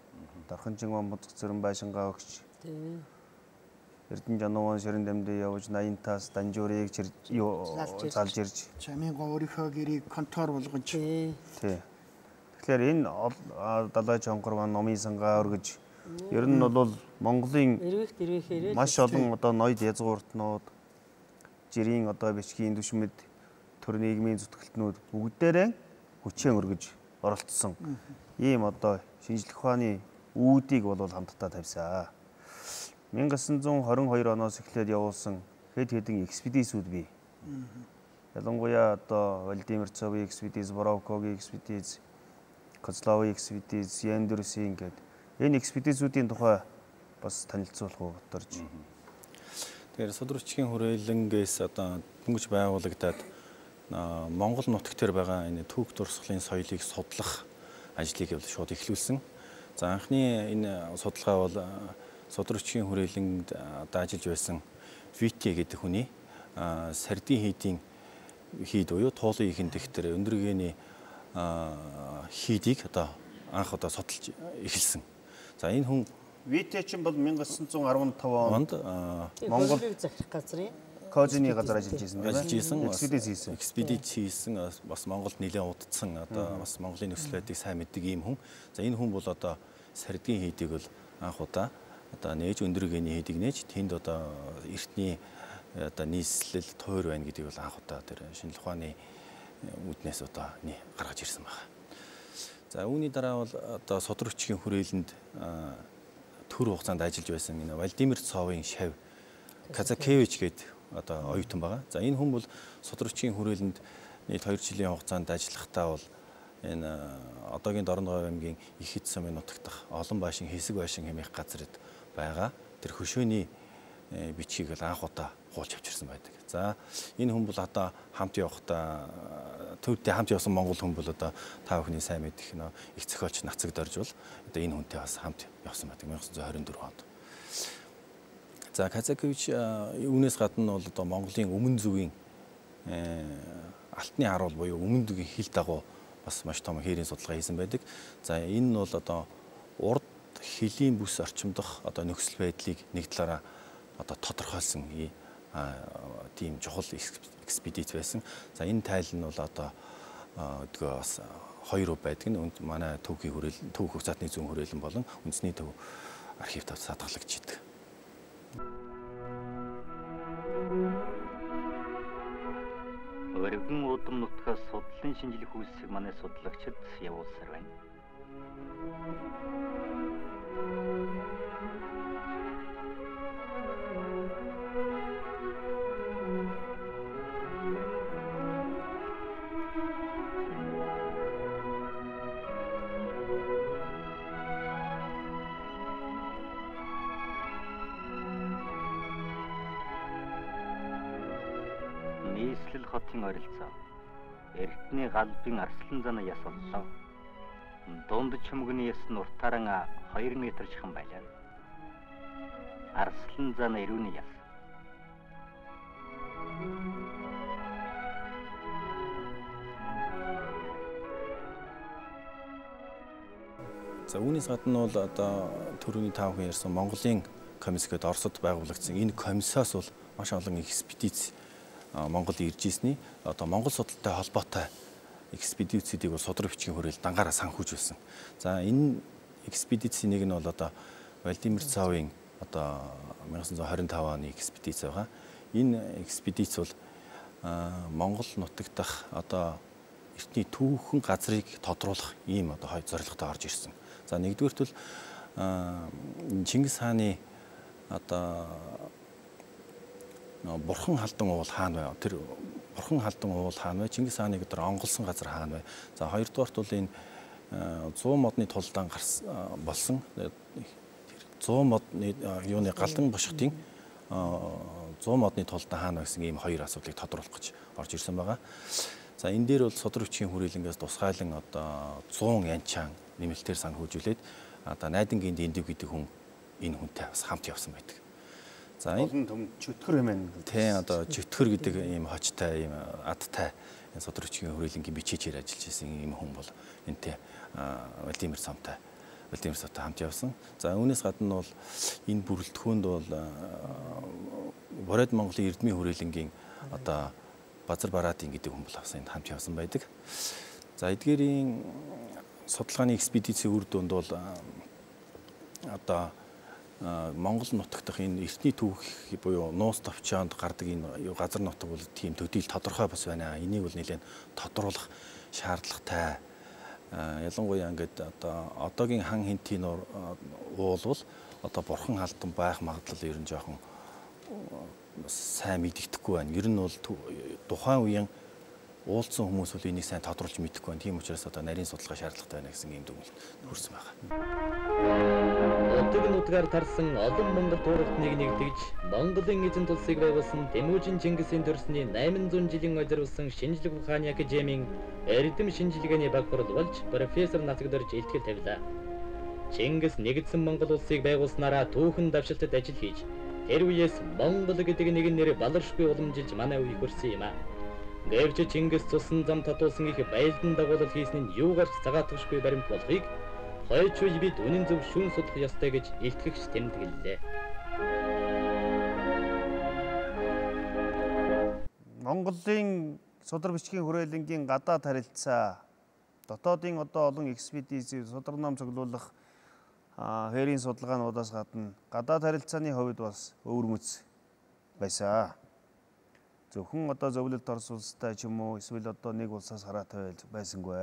Дарханжин Бамбуцг Цэрэн Байшингаа өгч. Тийм. Эрдэнэ Жануун Ширэн Дамдын явж 80-таас Данжуурыг залж ирж. Чаминга өөрийнхөө гэрийг контор болгож. Тийм. Тэгэхээр энэ далай чонгор маань номын сангаа өргөж ер нь бол Монголын маш олон одоо ноёд язгууртнууд, жирийн одоо бичгийн түвшмэд, төр нийгмийн зүтгэлтнүүд бүгдээрээ хүчээр өргөж оролцсон. Ийм одоо шинжлэх ухааны үүдийг бол хамтдаа тавьсан. 1922 оноос эхлээд явуулсан хэд хэдэн экспедицүүд бий. Ялангуяа одоо Владимир Цовын экспедиц, Боровковын экспедиц, Коцловын экспедиц, Яндерсийн гэдэг энэ экспедицүүдийн тухай бас танилцуулах уу бодорж. Тэгэхээр судар бичгийн хүрээлэнгээс одоо дөнгөж байгуулагдаад Монгол нутагт төр байгаа энэ түүх дурсгалын соёлыг судлах ажлыг шууд эхлүүлсэн. За анхны энэ судалгаа бол судар бичгийн хүрээлэнд ажиллаж байсан Вити гэдэг хүний сардин хийдийн хийд буюу туулын ихэн дэхтэр өндөргээний хийдийг одоо анх одоо судалж эхэлсэн. За энэ хүн Вити чинь бол 1915 онд Монгол захирах газрын Кожины газар ажиллаж байсан тийм ээ. Экспедиц хийсэн. Экспедиц хийсэн бас Монголд нэлээд удацсан одоо бас Монголын нөхцөл байдлыг сайн мэддэг ийм хүн. За энэ хүн бол одоо сардгийн хийдийг бол анх удаа одоо нээж өндөр гэний хийдийг нээж тэнд одоо эртний одоо нийслэл тойр байна гэдгийг бол анх удаа тэр шинжлэх ухааны үүднээс одоо гаргаж ирсэн байна. За үүний дараа бол одоо содор хүчгийн хүрээлэнд төр хугацаанд ажиллаж байсан энэ Владимир Цовын шав Казакевич гэдэг одоо оюутан байгаа. За энэ хүн бол содор хүчгийн хүрээлэнд нийт 2 жилийн хугацаанд ажиллахдаа бол энэ одоогийн Дорногов аймгийн Их Хэд сумын нутагт олон байшин хэсэг байшин хэмээх газарт байгаа. Тэр хөшөөний бичгийг л анх удаа хуулж авчирсан байдаг. За энэ хүн бол одоо хамт явахдаа төвдөө хамт явсан монгол хүн бол одоо та бүхний сайн мэдих нөө их зохиолч Нацаг Дорж бол одоо энэ хүнтэй бас хамт явсан байдаг 1924 онд. За Казакевич үүнээс гадна бол одоо Монголын өмнө зүгийн алтны харуул буюу өмнө зүгийн хил дагуу бас маш том хээрийн судалгаа хийсэн байдаг. За энэ нь бол одоо урд хилийн бүс орчимдох одоо нөхцөл байдлыг нэг талаараа одоо тодорхойлсон тийм чухал экспедиц байсан. За энэ тайл нь бол одоо өдгөө бас 2 байдаг нь манай төвхийн хүрээлэн төвх хурцаатны зүүн хүрээлэн болон үндэсний төв архивт хадгалагдчихэдэг. Өргөн удам нутгаас судлалын шинжилгээ хүйсийг манай судалгачид явуулсаар байна. Нийслэл хотын ойролцоо Эрдэнэ галбын Арслан зана яс боллоо. Дунд чөмгөний яс нь уртаараа 2 метр жихэн байлаа. Арслан зана ирүүний яс. За үүнээс гадна бол одоо төрөний таавхан ярьсан Монголын комисс гэдэг Оросд байгуулагдсан энэ комиссаас бол маш олон экспедиц Монгол ирж ирсний одоо Монгол судалтай холбоотой экспедицүүдийг бол судраг бичгийн хүрээлэл дангаараа санхүүж байсан. За энэ экспедицийн нэг нь бол одоо Владимир Цовын одоо 1925 оны экспедиц байгаа. Энэ экспедиц бол Монгол нутагт дах одоо эртний түүхэн газрыг тодруулах ийм одоо зорилготой орж ирсэн. За нэгдүгээрт бол Чингис хааны одоо Бурхан халдан уул хаана вэ? Тэр Бурхан халдан уул хаана вэ? Чингис хааныг өдөр онголсон газар хаана вэ? За хоёрдугаарт бол энэ 100 модны тулдаан болсон 100 модны юуны галдан бошготын 100 модны тулдаан хаана гэсэн ийм 2 асуудлыг тодруулах гэж орж ирсэн байгаа. За энэ дээр бол судраг хүчгийн хүрээлэнгээс тусгайлан одоо 100 янчаан нэмэлтээр санхүүжүүлээд одоо найдангийн дэндив гэдэг хүн энэ хүнтэй бас хамт явсан байдаг. За олон том чөтгөр юм байна. Тийм одоо чөтгөр гэдэг ийм хочтой ийм адтай судраг хүчгийн хүрээлэнгийн бичээчээр ажиллаж исэн ийм хүн бол энтэй Владимир Цовтой хамт явсан. За үүнээс гадна бол энэ бүрэлдэхүүнд бол Бороод Монголын эрдмийн хүрээлэнгийн одоо Базар Бараатын гэдэг хүн бол энд хамт явсан байдаг. За эдгээрийн судалгааны экспедицийн үр дүнд бол одоо Монгол нутагт дах энэ эртний түүх буюу нуус товчоонд гардаг энэ газар нутаг бол тийм төдийл тодорхой бас байна. Энийг бол нэлээд тодруулах шаардлагатай. Ялангуяа ингээд одоо одоогийн хан хинтийн уул бол одоо бурхан халдан байх магадлал ер нь жоохон сайн мэддэхгүй байна. Ер нь бол тухайн үеийн уулзсан хүмүүс бол энийг сайн тодруулж мэдэхгүй байна. Тийм учраас одоо нарийн судалгаа шаардлагатай байна гэсэн ийм дүгнэлт хүрсэн байна. Одоогийн нутгаар тарсан олон монгол тууралтныг нэгтгэж Монголын эзэн тулсыг байгуулсан Тэмүжин Чингисийн төрсний 800 жилийн ойролцоон шинжлэх ухааны академийн эрдэм шинжилгээний баг хурал болж профессор Нацаг Дорж илтгэл тавилаа. Чингис нэгдсэн Монгол улсыг байгуулснараа түүхэн давшилтад ажил хийж тэр үеэс Монгол гэдэг нэгэн нэр баларшгүй уламжилж манай үеийг хүрсэн юм аа. Гэвч Чингис цусан зам татуулсан их байлдан дагуулал хийсэн нь юугаарч цагаатгашгүй баримт болохыг хойч үе бид үнэн зөв шүүн судлах ёстой гэж илтгэгч тэмдэглэлээ. Монголын судар бичгийн хүрээлэнгийн гадаад харилцаа дотоодын одоо олон экспедиц судар ном цуглуулах хээрийн судалгаануудаас гадна гадаад харилцааны хувьд бас өвөрмөц байсан. Зөвхөн одоо зөвлөлт Орос улстай ч юм уу эсвэл одоо нэг улсаас хараатай байсангүй.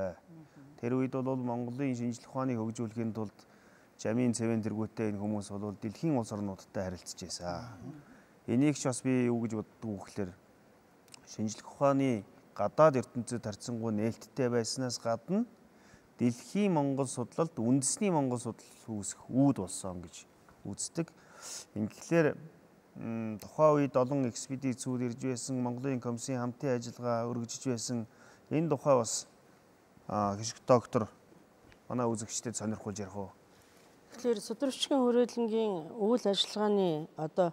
Тэр үед бол Монголын шинжлэх ухааны хөгжүүлэхийн тулд жамийн цэвэн тэргүүтээ энэ хүмүүс бол дэлхийн улс орнуудтай харилцаж байсан. Энийг ч бас би юу гэж боддог вэ гэхээр шинжлэх ухааны гадаад ертөнцид харьцангуй нээлттэй байснаас гадна дэлхийн Монгол судлалд үндэсний Монгол судлал үүсэх үүд болсон гэж үздэг. Ингэхлээр тухайн үед олон экспедицүүд ирж байсан, Монголын комиссийн хамтын ажиллагаа өргөжж байсан. Энэ тухай бас гişг доктор манай үзэгчдэд сонирхуулж ярих уу? Тэгэхээр судар бичгийн хүрээлэнгийн үйл ажиллагааны одоо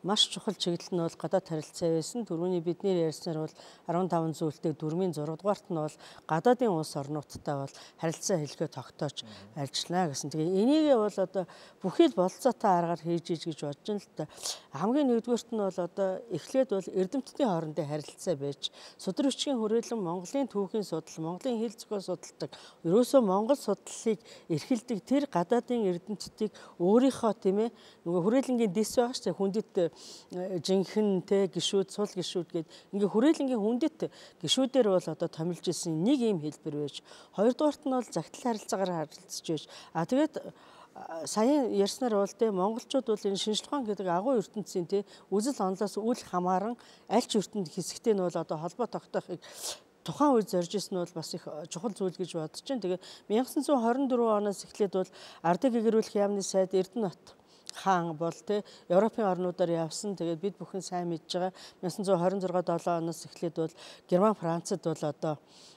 маш чухал чиглэл нь бол гадаад харилцаа байсан. Түрүүний бидний ярьснаар бол 15 зүйлтэй 4-ийн 6 дугаарт нь бол гадаадын улс орнуудтай бол харилцаа хэлхээ тогтоож ажиллана гэсэн. Тэгээ энийгээ бол одоо бүхий л болцоотой аргаар хийж иж гэж бодож байна л та. Хамгийн нэгдүгээрт нь бол одоо эхлээд бол эрдэмтдийн хоорондын харилцаа байж судар бичгийн хүрээлэн Монголын түүхийн судал, Монголын хэл зохиол судалдаг, ерөөсөө Монгол судлалыг эрхэлдэг тэр гадаадын эрдэмтдийг өөрийнхөө тийм ээ нөгөө хүрээлэнгийн дэс байгаа шүү дээ хүндэт жинхэнэ гişүүд сул гişүүд гээд ингээ хүрээлэнгийн хүндэт гişүүдээр бол одоо томилж исэн нэг юм хэлбэр байж. Хоёрдугаарт нь бол загтал харилцаагаар харилцаж байж. Тэгээд саяхан ярьснаар бол монголчууд бол энэ шинжлэх ухаан гэдэг агуу ертөнцийн үзэл онолоос үл хамааран аль ч ертөнд хэсэгтэй нь бол одоо холбоо тогтоохыг тухайн үед зорж исэн нь бол бас их чухал зүйл гэж бодож байна. Тэгээ 1924 оноос эхлээд бол ардыг гэгэрүүлэх яамны сайд Эрдэнэбат хаан бол Европын орнуудаар явсан. Тэгээд бид бүхэн сайн мэдж байгаа 1926 7 оноос эхлээд бол Герман Францад бол одоо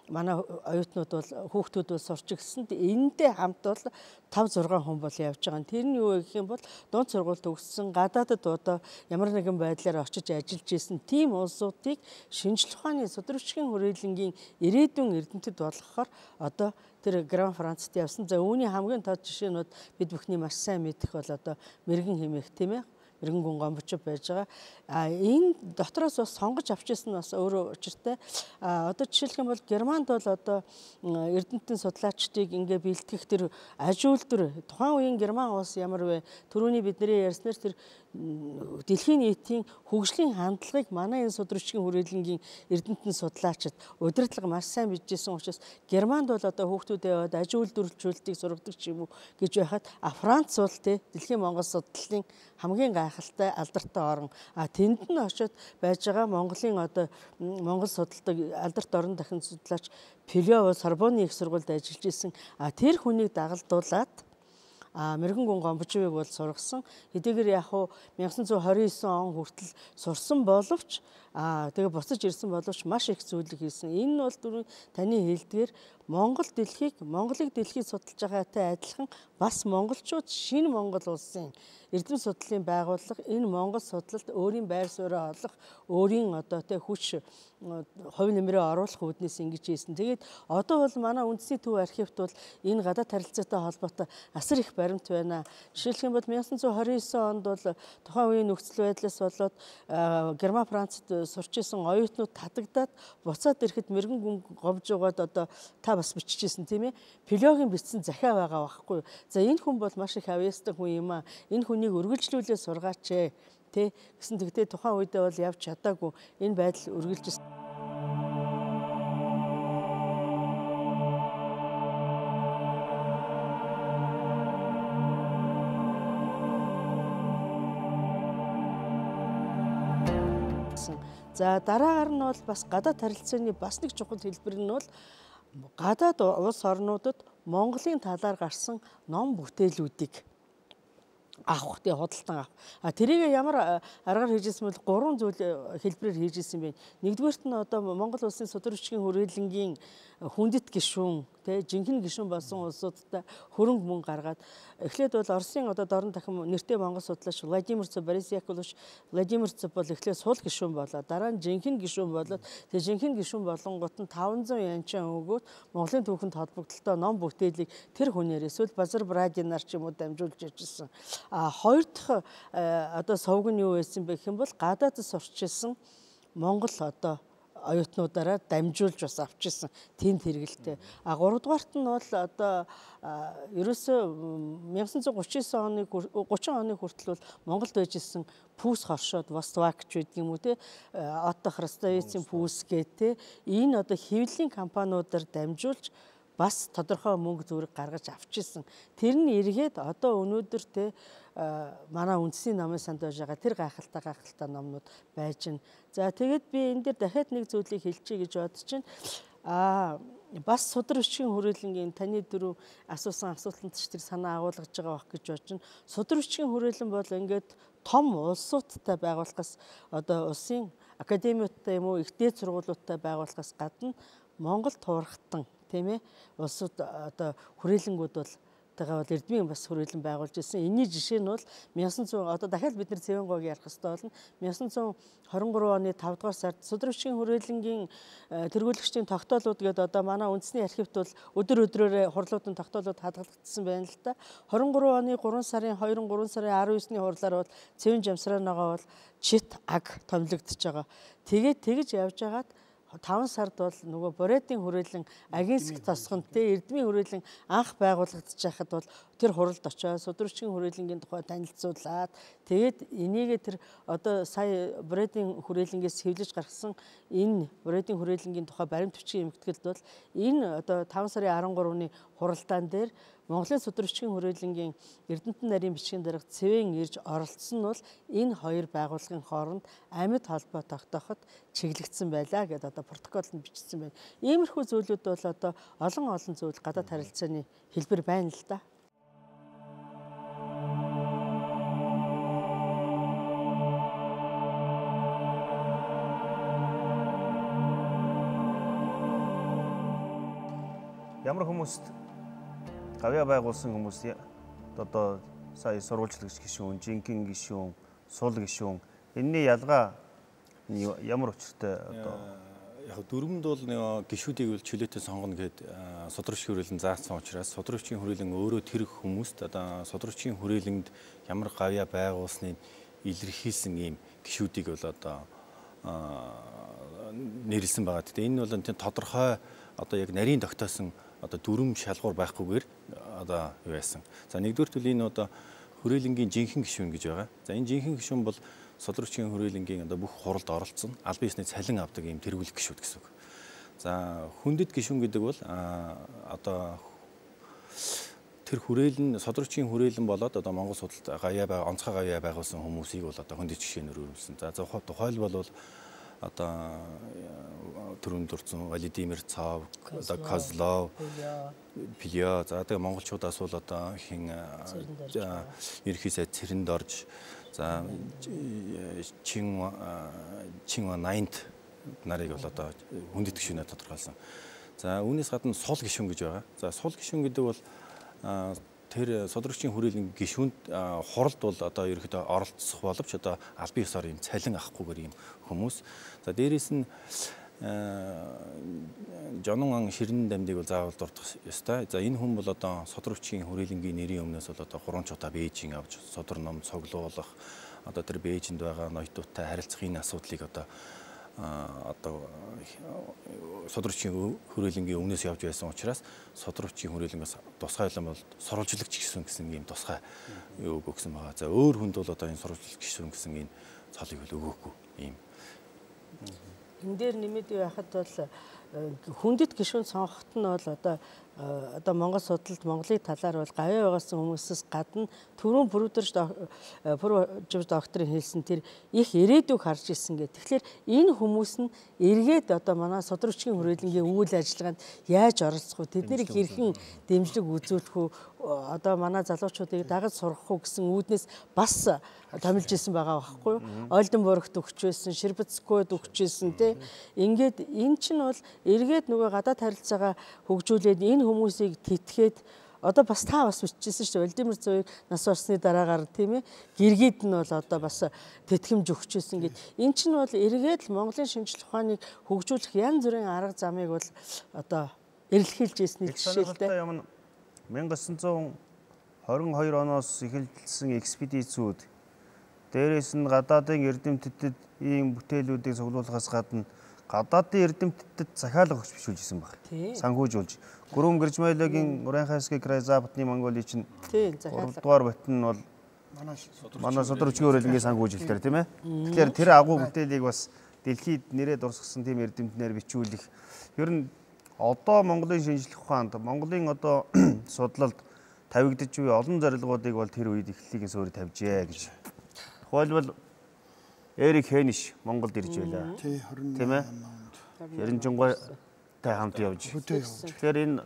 манай оюутнууд бол хүүхдүүд бол сурч ирсэн. Энэтэй хамт бол 5-6 хүн бол явж байгаа. Тэр нь юу гэх юм бол дунд сургууль төгссөн гадаадад одоо ямар нэгэн байдлаар очиж ажиллаж исэн тийм улсуудыг шинжлэх ухааны судар бичгийн хүрээлэнгийн ирээдүйн эрдэмтэд болгохоор одоо тэр Герман Францад явсан. За үүний хамгийн тод жишээнүүд бид бүхний маш сайн мэдэх бол одоо мэрэгэн хэмээх тийм ээ мэрэгэн гүн гомбочоо байж байгаа. Энэ дотроос бас сонгож авчихсан нь бас өөрөө учиртай. Одоо жишээлх юм бол Германд бол одоо эрдэмтэн судлаачдыг ингээ бэлтгэх тэр ажилтар тухайн үеийн Герман улс ямар вэ? Түрүүний бидний ярьснаар тэр дэлхийн нийтийн хөгжлийн хандлагыг манай энэ судар бичгийн хүрээлэнгийн эрдэмтэн судлаачид удирдлага маш сайн мэдчихсэн учраас Германд бол одоо хүүхдүүдээ яваад аж үйлдвэрлэлтийг сургадаг ч юм уу гэж байхад Франц бол дэлхийн Монгол судлалын хамгийн гайхалтай алдартай орн. Тэнд нь очиод байж байгаа Монголын одоо Монгол судалдаг алдарт орон дахин судлаач Пелео Сорбонны их сургуульд ажиллаж исэн. Тэр хүнийг дагалдуулаад мэрэгэн гүн гомбочвыг бол сургасан. Хэдийгээр яг хуу 1929 он хүртэл сурсан боловч тэгээ буцаж ирсэн боловч маш их зүйлийг хийсэн. Энэ нь бол түрүү таны хэлдгээр Монголыг дэлхийд судалж байгаатай адилхан бас монголчууд шинэ Монгол улсын эрдэм судлалын байгууллага энэ Монгол судлалд өөрийн байр сууриа олох, өөрийн одоо хүч хувь нэмрээ оруулах үүднээс ингэж хийсэн. Тэгээд одоо бол манай үндэсний төв архивт бол энэ гадаад харилцаатай холбоотой асар их баримт байна. Жишээлх юм бол 1929 онд бол тухайн үеийн нөхцөл байдлаас болоод Герман Францад сурч исэн оюутнууд татагдаад буцаад ирэхэд мэрэгэн гүн гомжуугаад одоо та бас бичижсэн тийм ээ. Пелеогийн бичсэн захиа байгаа байхгүй. За энэ хүн бол маш их авьяастай хүн юм аа. Энэ хүнийг үргэлжлүүлээ сургаач тэ гэсэн тэгтээ тухайн үедээ бол явж чадаагүй энэ байдал үргэлжилсэн. За дараагаар нь бол бас гадаад харилцааны бас нэг чухал хэлбэр нь бол гадаад улс орнуудад Монголын талаар гарсан ном бүтээлүүдийг авах худалдан авах. Тэрийг ямар аргаар хийжсэн бол 3 зүйл хэлбэрээр хийжсэн байна. Нэгдүгээрт нь одоо Монгол улсын судар бичгийн хүрээлэнгийн хүндэт гишүүн жинхэнэ гишүүн болсон улсуудтай хөрөнгө мөнгө гаргаад эхлээд бол Оросын одоо дорн дахин нэртэй Монгол судлаач Владимир Борис Яковлевич Владимир бол эхлээд сул гишүүн болоод дараа нь жинхэнэ гишүүн болоод тэгээ жинхэнэ гишүүн болонгот нь 500 янчаан өгөөд Монголын түүхэнд холбогдлолтой ном бүтээлийг тэр хүнээр эсвэл Базар Брадинаар ч юм уу дамжуулж иржсэн. Хоёр дахь одоо сувг нь юу байсан бэ гэх юм бол гадаадд сурчилсан Монгол одоо оюутнуудаараа дамжуулж бас авчирсан тэнд хэрэгэлтэй. 3 дугаарт нь бол одоо ерөөсөө 1939 оны 30 оны хүртэл бол Монголд байж исэн пүүс хоршоод Vostok ч гэдэг юм уу те Отто Хрустовицын пүүс гэдэг энэ одоо хэвлэлийн компаниудаар дамжуулж бас тодорхой мөнгө зүрэг гаргаж авчирсан. Тэр нь эргээд одоо өнөөдөр те манай үндэсний номын санд байж байгаа тэр гайхалтай номнууд байж байна. За тэгээд би энэ дээр дахиад нэг зүйлийг хэлчихье гэж бодож байна. Бас судар бичгийн хүрээлэнгийн таны дөрөв асуусан асуултанд ч тэр санаа агуулгаж байгаа байх гэж бодож байна. Судар бичгийн хүрээлэн бол ингээд том улсуудтай байгууллагаас одоо улсын академиудтай юм уу их дээд сургуулиудтай байгууллагаас гадна Монгол туурхтан тийм ээ улсууд одоо хүрээлэнгүүд бол тагаа бол эрдмийн бас хүрээлэн байгуулж ирсэн. Энэний жишээ нь бол 1900 одоо дахиад бид нар Цэвэнгойг ярих хэрэгтэй болно. 1923 оны 5 дугаар сард судар бичгийн хүрээлэнгийн тэргүүлэгчдийн тогтоолууд гэдэг одоо манай үндэсний архивт бол өдрөөрөө хурлуудын тогтоолууд хадгалагдсан байна л да. 23 оны 3 сарын 2-3 сарын 19-ний хурлаар бол Цэвэн Жамсраанагаа бол чит аг томилогдож байгаа. Тэгэж явж байгаад 5 сард бол нөгөө Боредын хүрээлэн Агинск тосгонтэй эрдмийн хүрээлэн анх байгуулагдаж байхад бол тэр хуралд очоод судар бичгийн хүрээлэнгийн тухай танилцуулаад тэгээд энийгээ тэр одоо сая Боредын хүрээлэнгээс хэвлэж гаргасан энэ Боредын хүрээлэнгийн тухай баримт бичгийн эмгэтгэлд бол энэ одоо 5 сарын 13-ны хуралдаан дээр Монголын судар бичгийн хүрээлэнгийн Эрдэнэтен нарийн бичгийн дарга Цэвэн ирж оролцсон нь бол энэ хоёр байгууллагын хооронд амьд холбоо тогтооход чиглэгдсэн байлаа гэдээ одоо протоколд бичсэн байна. Иймэрхүү зүйлүүд бол одоо олон зүйл гадаад харилцааны хэлбэр байна л да. Ямар хүмүүст гавьяа байгуулсан хүмүүс одоо сая сурвалжлагч гишүүн, жинхэнэ гишүүн, сул гишүүн энэний ялгаа ямар учиртай одоо яг дөрвөнд бол нэг гишүүдийг үл чөлөөтэй сонгоно гэд судар бичгийн хүрээлэн заасан учраас судар бичгийн хүрээлэн өөрөө тэр хүмүүст одоо судар бичгийн хүрээлэнд ямар гавьяа байгуулсныг илэрхийлсэн ийм гишүүдийг бол одоо нэрлсэн байгаа. Гэхдээ энэ бол энэ тодорхой одоо яг нарийн тогтоосон одоо дүрм шалгуур байхгүйгээр одоо юу яасан. За нэгдүгээр нь энэ одоо хүрээлэнгийн жинхэнэ гишүүн гэж байгаа. За энэ жинхэнэ гишүүн бол судар бичгийн хүрээлэнгийн одоо бүх хуралд оролцсон албан ёсны цалин авдаг ийм тэргүүлэх гишүүд гэсэн үг. За хүндэт гишүүн гэдэг бол одоо тэр хүрээлэн судар бичгийн хүрээлэн болоод одоо Монгол судалт онцгой гавьяа байгуулсан хүмүүсийг бол одоо хүндэт гишүүнээр өрүүлсэн. За тухайлбал бол одоо түрүүнд дурдсан Владимир Цав, одоо Козлов, Пилё, за тэгээ монголчуудаас бол одоо хин ерхий сайд Цэрэнд орж, за Чинва 90 нарыг бол одоо хүндэт гишүүнээр тодорхойлсон. За үүнээс гадна сул гишүүн гэж байгаа. За сул гишүүн гэдэг бол тэр судар бичгийн хүрээлэн гишүүнд хуралд бол одоо ерөөхдөө оролцох боловч одоо албан ёсоор юм цалин авахгүйгээр юм хүмүүс. За дээрээс нь Жонон Ширэн дамдыг бол заавал дурдах ёстой. За энэ хүн бол одоо судар бичгийн хүрээлэнгийн нэрийн өмнөөс бол одоо 3 удаа Бээжин авч судар ном цуглуулах одоо тэр Бээжинд байгаа ноёдуудтай харилцах энэ асуудлыг одоо судар бичгийн хүрээлэнгийн өмнөөс явж байсан учраас судар бичгийн хүрээлэнгээс тусгайлан бол сурвалжлагч гишүүн гэсэн ийм тусгай юу өгсөн байгаа. За өөр хүнд бол одоо энэ сурвалжлагч гишүүн гэсэн энэ цолыг бол өгөөхгүй ийм. Энэ дээр нэмээд яхад бол хүндэт гишүүн сонгоход нь бол одоо Монгол судалд Монголын талаар бол гавьяа байгуулсан хүмүүсээс гадна түрүүн докторийн хэлсэн тэр их ирээдүйг харж ирсэн гэх. Тэгэхээр энэ хүмүүс нь эргээд одоо манай судар бичгийн хүрээлэнгийн үйл ажиллагаанд яаж оролцох вэ? Тэднийг хэрхэн дэмжлэг үзүүлэх вэ? Одоо манай залуучуудыг дагаж сургах уу гэсэн үүднээс бас томилж исэн байгаа байхгүй юу? Ольденбургт өгч байсан, Шербицкойд өгч байсан тий. Ингээд эн чинь бол эргээд нөгөө гадаад харилцаагаа хөгжүүлээд энэ хүмүүсийг тэтгээд одоо бас та бас бичижсэн шүү дээ. Владимир Цавыг нас барсны дараагаар тийм ээ гэргийд нь бол одоо бас тэтгэмж өгчээсэн гэд. Эн чинь бол эргээд л Монголын шинжлэх ухааныг хөгжүүлэх янз бүрийн арга замыг бол одоо эрэлхийлж ирсний жишээлтэй. 1922 оноос эхэлсэн экспедицүүд Дээрээс нь гадаадын эрдэмтэдэд ийм бүтээлүүдийг цуглуулахаас гадна гадаадын эрдэмтэдэд захиалга өгч бишүүлжсэн баг. Санхүүжүүлж. Гүрэн Гэржмайлогийн Урайхайский край Западны Монголын чинь 3 дугаар батн нь бол манай Содрог хүчгийн хүрээлэнгийн санхүүжилтээр тийм ээ. Тэгэхээр тэр агуу бүтээлийг бас дэлхийд нэрээ дурсгасан тийм эрдэмтнээр бичүүлэх. Ер нь одоо Монголын шинжлэх ухаанд Монголын одоо судлалд тавигдж буй олон зорилгоодыг бол тэр үед эхлэлийг суурь тавьжээ гэж. Тухайлбал Эрик Хениш Монголд ирж байлаа. Тийм ээ. Ерөнжингойтай хамт явж. Тэгэхээр энэ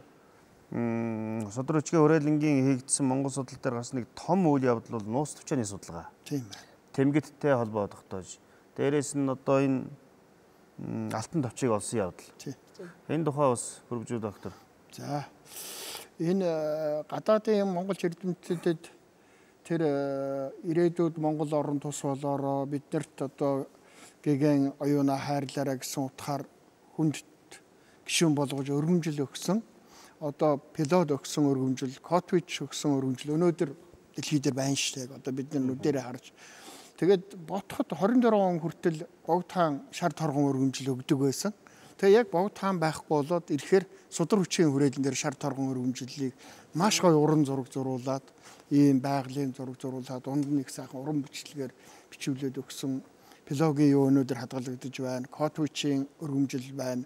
Содрог хүчгийн хүрээлэнгийн хийгдсэн Монгол судал дээр гарсан нэг том үйл явдал бол нуус төвчөөний судалгаа. Тийм ээ. Тэмгэттэй холбоо тогтоож. Дээрээс нь одоо энэ алтан товчийг олсон явдал. Энэ тухай бас хөрвжүү доктор. За. Энэ гадаадын Монгол эрдэмтэдэд тэр ирээдүйд Монгол орон тус болоороо биднэрт одоо гэгэн оюуна хайрлаараа гэсэн утгаар хүнд гишүүн болгож өргөмжил өгсөн. Одоо пилот өгсөн өргөмжил, Котвич өгсөн өргөмжил өнөөдөр дэлхий дээр байна шүү дээ. Одоо бид нар нүдэрээ харж. Тэгээд ботход 24 он хүртэл Богдхан шар торгон өргөмжил өгдөг байсан. Тэгээ яг Богдхан байхгүй болоод ирэхээр Содрог хүчгийн хүрээлэн дээр шар торгон өргөмжлөлийг маш гоё уран зураг зуруулад ийм байгалийн зураг зуруулаад дунд нэг сайхан уран бичлэгээр бичүүлээд өгсөн пилогийн юу өнөөдөр хадгалагдаж байна. Котвичийн өргөмжил байна.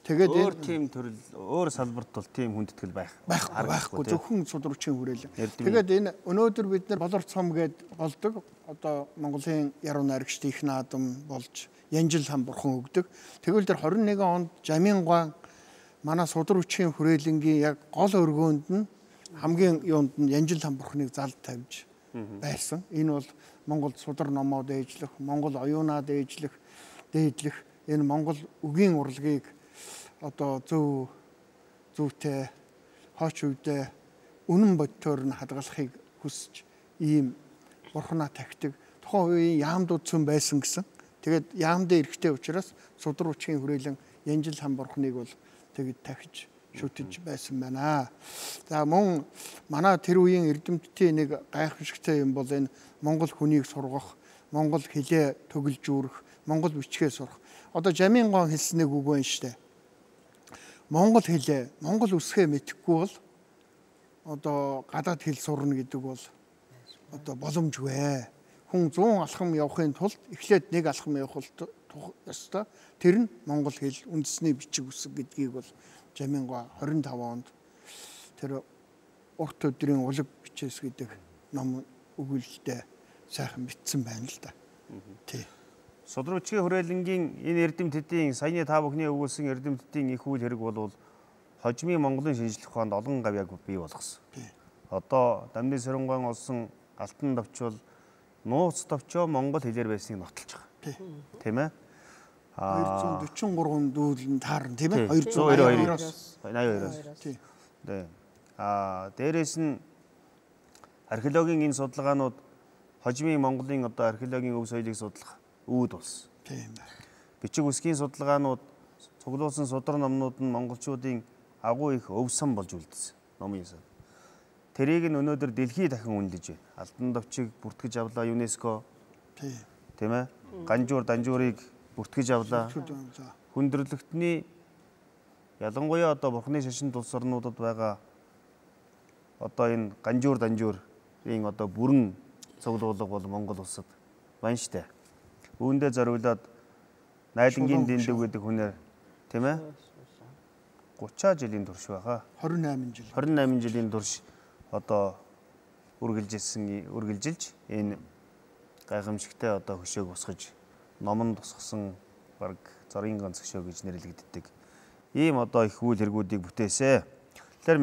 Тэгээд өөр тийм төрөл өөр салбарт бол тийм хүндэтгэл байхгүй зөвхөн Содрог хүчгийн хүрээлэн. Тэгээд энэ өнөөдөр бид нар болор цом гээд болдог. Одоо Монголын яруу найрагчд их наадам болж Янжил хам бурхан өгдөг. Тэгвэл тэр 21 онд Жамингуан манай Содрог хүчгийн хүрээлэнгийн яг гол өргөөнд нь хамгийн юунд нь Янжил хам бурханыг залд тавьж байсан. Энэ бол Монгол судар номоо дээжлэх, Монгол оюунаа дээжлэх, энэ Монгол үгийн урлагийг одоо зөвтэй хооч үедээ үнэн бодтоор нь хадгалахыг хүсэж ийм бурхнаа тахдаг. Тухайн үеийн яамдууд цөм байсан гэсэн. Тэгээд яамдын эрхтэй учраас Содрог хүчгийн хүрээлэн Янжил хам бурхныг бол тэгэд тахиж шүтэж байсан байна. За мөн манай тэр үеийн эрдэмтдийн нэг гайхамшигтай юм бол энэ Монгол хүнийг сургах, Монгол хэлээ төгөлжүүрэх, Монгол бичгээ сурах. Одоо Жамингуан хэлсэн нэг үг байна штэ. Монгол хэлээ, Монгол үсгээ мэдэхгүй бол одоо гадаад хэл сурна гэдэг бол одоо боломжгүй. Хүн 100 алхам явахын тулд эхлээд нэг алхам явах ёстой. Тэр нь Монгол хэл үндэсний бичиг үсэг гэдгийг бол Жамингуан 25 онд тэр урт өдрийн улаг бичээс гэдэг ном өгүүлэлтэд сайхан бичсэн байна л да. Тий. Содрог хүчгийн хүрээлэнгийн энэ эрдэмтдийн саяны та бүхний өгүүлсэн эрдэмтдийн их үйл хэрэг бол хожимын Монголын шинжлэх ухаанд олон гавьяаг бий болгосон. Одоо Дамны Сэрэнгаан олсон алтан товч бол нууц товчоо Монгол хэлээр байсныг нотолж байгаа. Тийм ээ. 243 дүүлэн таарна тийм ээ. 282-оос. Тийм. Дээрээс нь археологийн энэ судалгаанууд хожимын Монголын одоо археологийн өв соёлыг судлах үүд болсон. Тийм байна. Бичиг үсгийн судалгаанууд цуглуулсан судар номнууд нь монголчуудын агуу их өвсөн болж үлдсэн. Номын сан. Тэрийг нь өнөөдөр дэлхий дахин үнэлж байна. Алтан товчийг бүртгэж авлаа ЮНЕСКО. Тийм ээ. Ганжуур данжуурыг бүртгэж авлаа. Хүндрэлтний ялангуяа одоо бурхны шашин улс орнуудад байгаа одоо энэ ганжуур данжуурын одоо бүрэн цуглуулга бол Монгол улсад байна штэ. Үүндээ зориулаад Найлангийн дэндүг гэдэг хүнээр тийм ээ 30 жилийн турш байгаа. 28 жилийн турш одоо үргэлжилж энэ гайхамшигтай одоо хөшөөг босгож номон тусгасан баг зорын ганц хөшөө гэж нэрлэгддэг. Ийм одоо их үйл хэргүүдийг бүтээсэ. Тэгэхээр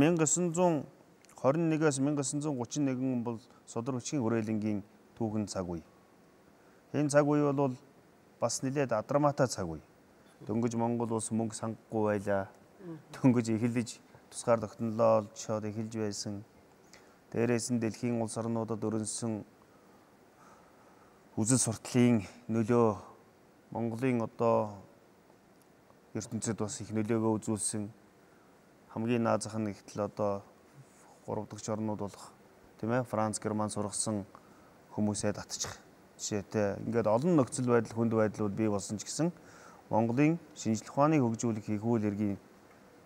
1921-ээс 1931 бол Содрог хүчгийн хүрээлэнгийн түүхэн цаг үе. Энэ цаг үе бол бас нэлээд адраматай цаг үе. Дөнгөж Монгол улс мөнгө сангахгүй байлаа. Дөнгөж эхэлж тусгаар тогтнолоо олжоод эхэлж байсан. Дээрээс нь дэлхийн улс орнуудад өрнөсөн үзэл сурталын нөлөө Монголын одоо ертөнцид бас их нөлөөгөө үзүүлсэн. Хамгийн наазах нь ихтэл одоо 3 дахь орнууд болох тийм ээ Франц, Герман сургасан хүмүүсээ татчих Жишээтэй ингээд олон нөхцөл байдал хүнд байдлууд бий болсон ч гэсэн Монголын шинжлэх ухааныг хөгжүүлэх их үйл хэргийн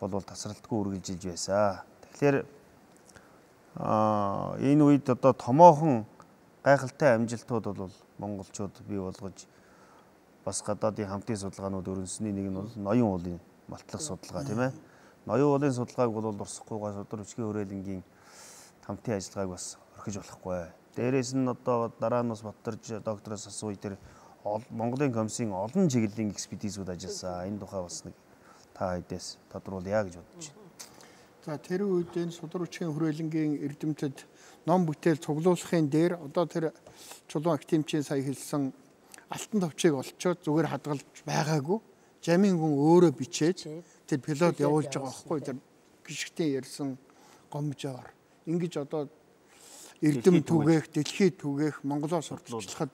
бол тасралтгүй үргэлжилж байсан. Тэгэхээр энэ үед одоо томоохон гайхалтай амжилтууд бол монголчууд бий болгож бас гадаадын хамтын судалгаанууд өрнөсний нэг нь бол ноён уулын малтлах судалгаа тийм ээ. Ноён уулын судалгааг бол урсахгүйгээс өдөр өчгийн хүрээлэнгийн хамтын ажиллагааг бас орхиж болохгүй. Дээрээс нь одоо дараа нь бас Баттарж доктороос асууя тэр Монголын комиссийн олон чиглэлийн экспедицүүд ажилласан. Энэ тухай бас нэг та хэдээс тодруулъя гэж бодож байна. За тэр үед энэ судрагчийн хүрээлэнгийн эрдэмтэд ном бүтээл цуглуулахын дээр одоо тэр чулуун актемчийн сая хэлсэн алтан товчийг олцоод зүгээр хадгалж байгаагүй. Жамин хүн өөрөө бичээд тэр пилот явуулж байгаа байхгүй тэр гიშгтийн ярьсан гомжоор. Ингэж одоо эрдэм түгээх, дэлхийд түгээх, Монголоо сурталчлахад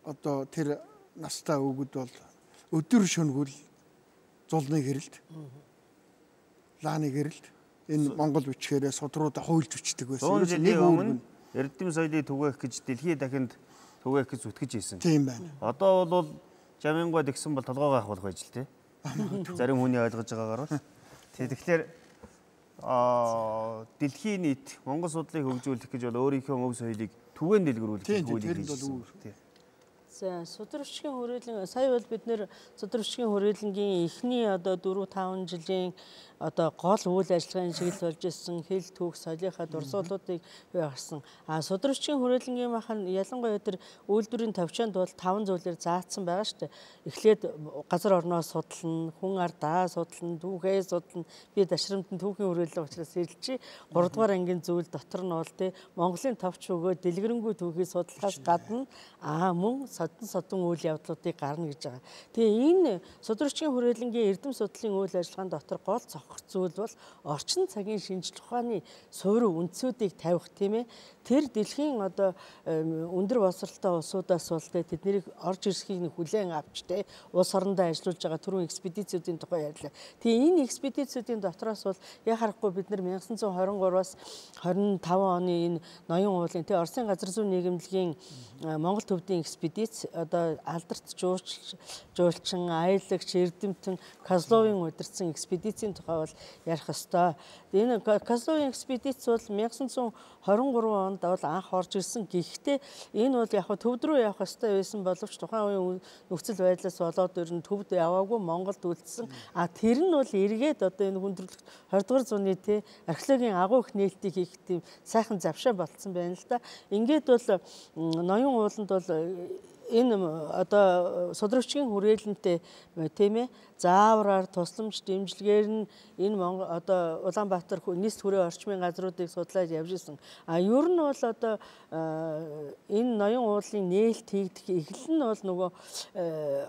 одоо тэр настай өвгөд бол өдөр шөнөгөл зулны гэрэлд лааны гэрэлд энэ Монгол бичгээрээ судруудаа хуйлж өчтдөг байсан. 100 жилийн өмнө эрдэм соёлыг түгээх гэж дэлхийд дахинд түгээх гэж зүтгэж ийсэн. Тийм байна. Одоо бол жамингой тэгсэн бол толгоо gaах болох байж л тий. Зарим хүний ойлгож байгаагаар бол. Тэгэхээр дэлхийн нийт Монгол судлалыг хөгжүүлэх гэж бол өөрийнхөө өв соёлыг түгээн дэлгэрүүлэх хуулийг хийсэн. За судрагчийн хүрээлэн сая бол бид нэр судрагчийн хүрээлэнгийн эхний одоо 4-5 жилийн одоо гол үйл ажиллагааны чиглэл болж ирсэн хэл түүх соёлынхаа дурсгалуудыг гаргасан. Судрагчийн хүрээлэнгийн махан ялангуяа тэр үйлдвэрийн төвчөнд бол 5 зүйлээр заасан байгаа шүү дээ. Эхлээд газар орноо судална, хүн ардаа судална, түүхээ судална. Би дашрамтан түүхийн хүрээлэн учраас хэлчихье. 3 дугаар ангийн зүйл дотор нь бол тий Монголын товч өгөө дэлгэрэнгүй түүхийг судлахаас гадна мөн содон үйл явдлуудыг гарна гэж байгаа. Тэгээ энэ судрагчийн хүрээлэнгийн эрдэм судлалын үйл ажиллагааны дотор гол цогц зүйл бол орчин цагийн шинжлэх ухааны суурь үндсүүдийг тавих тийм ээ. Тэр дэлхийн одоо өндөр боловсралтай улсуудаас бол тэднийг орж ирсхийг хүлээн авч те улс орондоо ажиллаж байгаа түрүүн экспедицүүдийн тухай ярьлаа. Тэгээ энэ экспедицүүдийн дотроос бол яг харахгүй бид нар 1923-аас 25 оны энэ ноён уулын те Оросын газар зүйн нийгэмлэгийн Монгол төвдийн экспедиц одоо алдарт жуулчин, аялагч, эрдэмтэн Козловын удирдсан экспедицийн тухай бол ярих ёстой. Энэ Козловын экспедиц бол 1923 онд бол анх орж ирсэн. Гэхдээ энэ бол яг төвд рүү явах ёстой байсан боловч тухайн үеийн нөхцөл байдлаас болоод ер нь төвд яваагүй Монголд үлдсэн. Тэр нь бол эргээд одоо энэ хүндрэлт 20 дугаар зууны те археологийн агуу их нээлтийг хийх тийм сайхан завшаа болцсон байна л да. Ингээд бол ноён ууланд бол энэ одоо судрагчийн хүрээлэнтэй тийм ээ заавраар тусламж дэмжлэгээр нь энэ Монгол одоо Улаанбаатар нийс хүрээ орчмын газруудыг судлаад явж исэн. Ер нь бол одоо энэ ноён уулын нээлт хийгдэх эхлэл нь бол нөгөө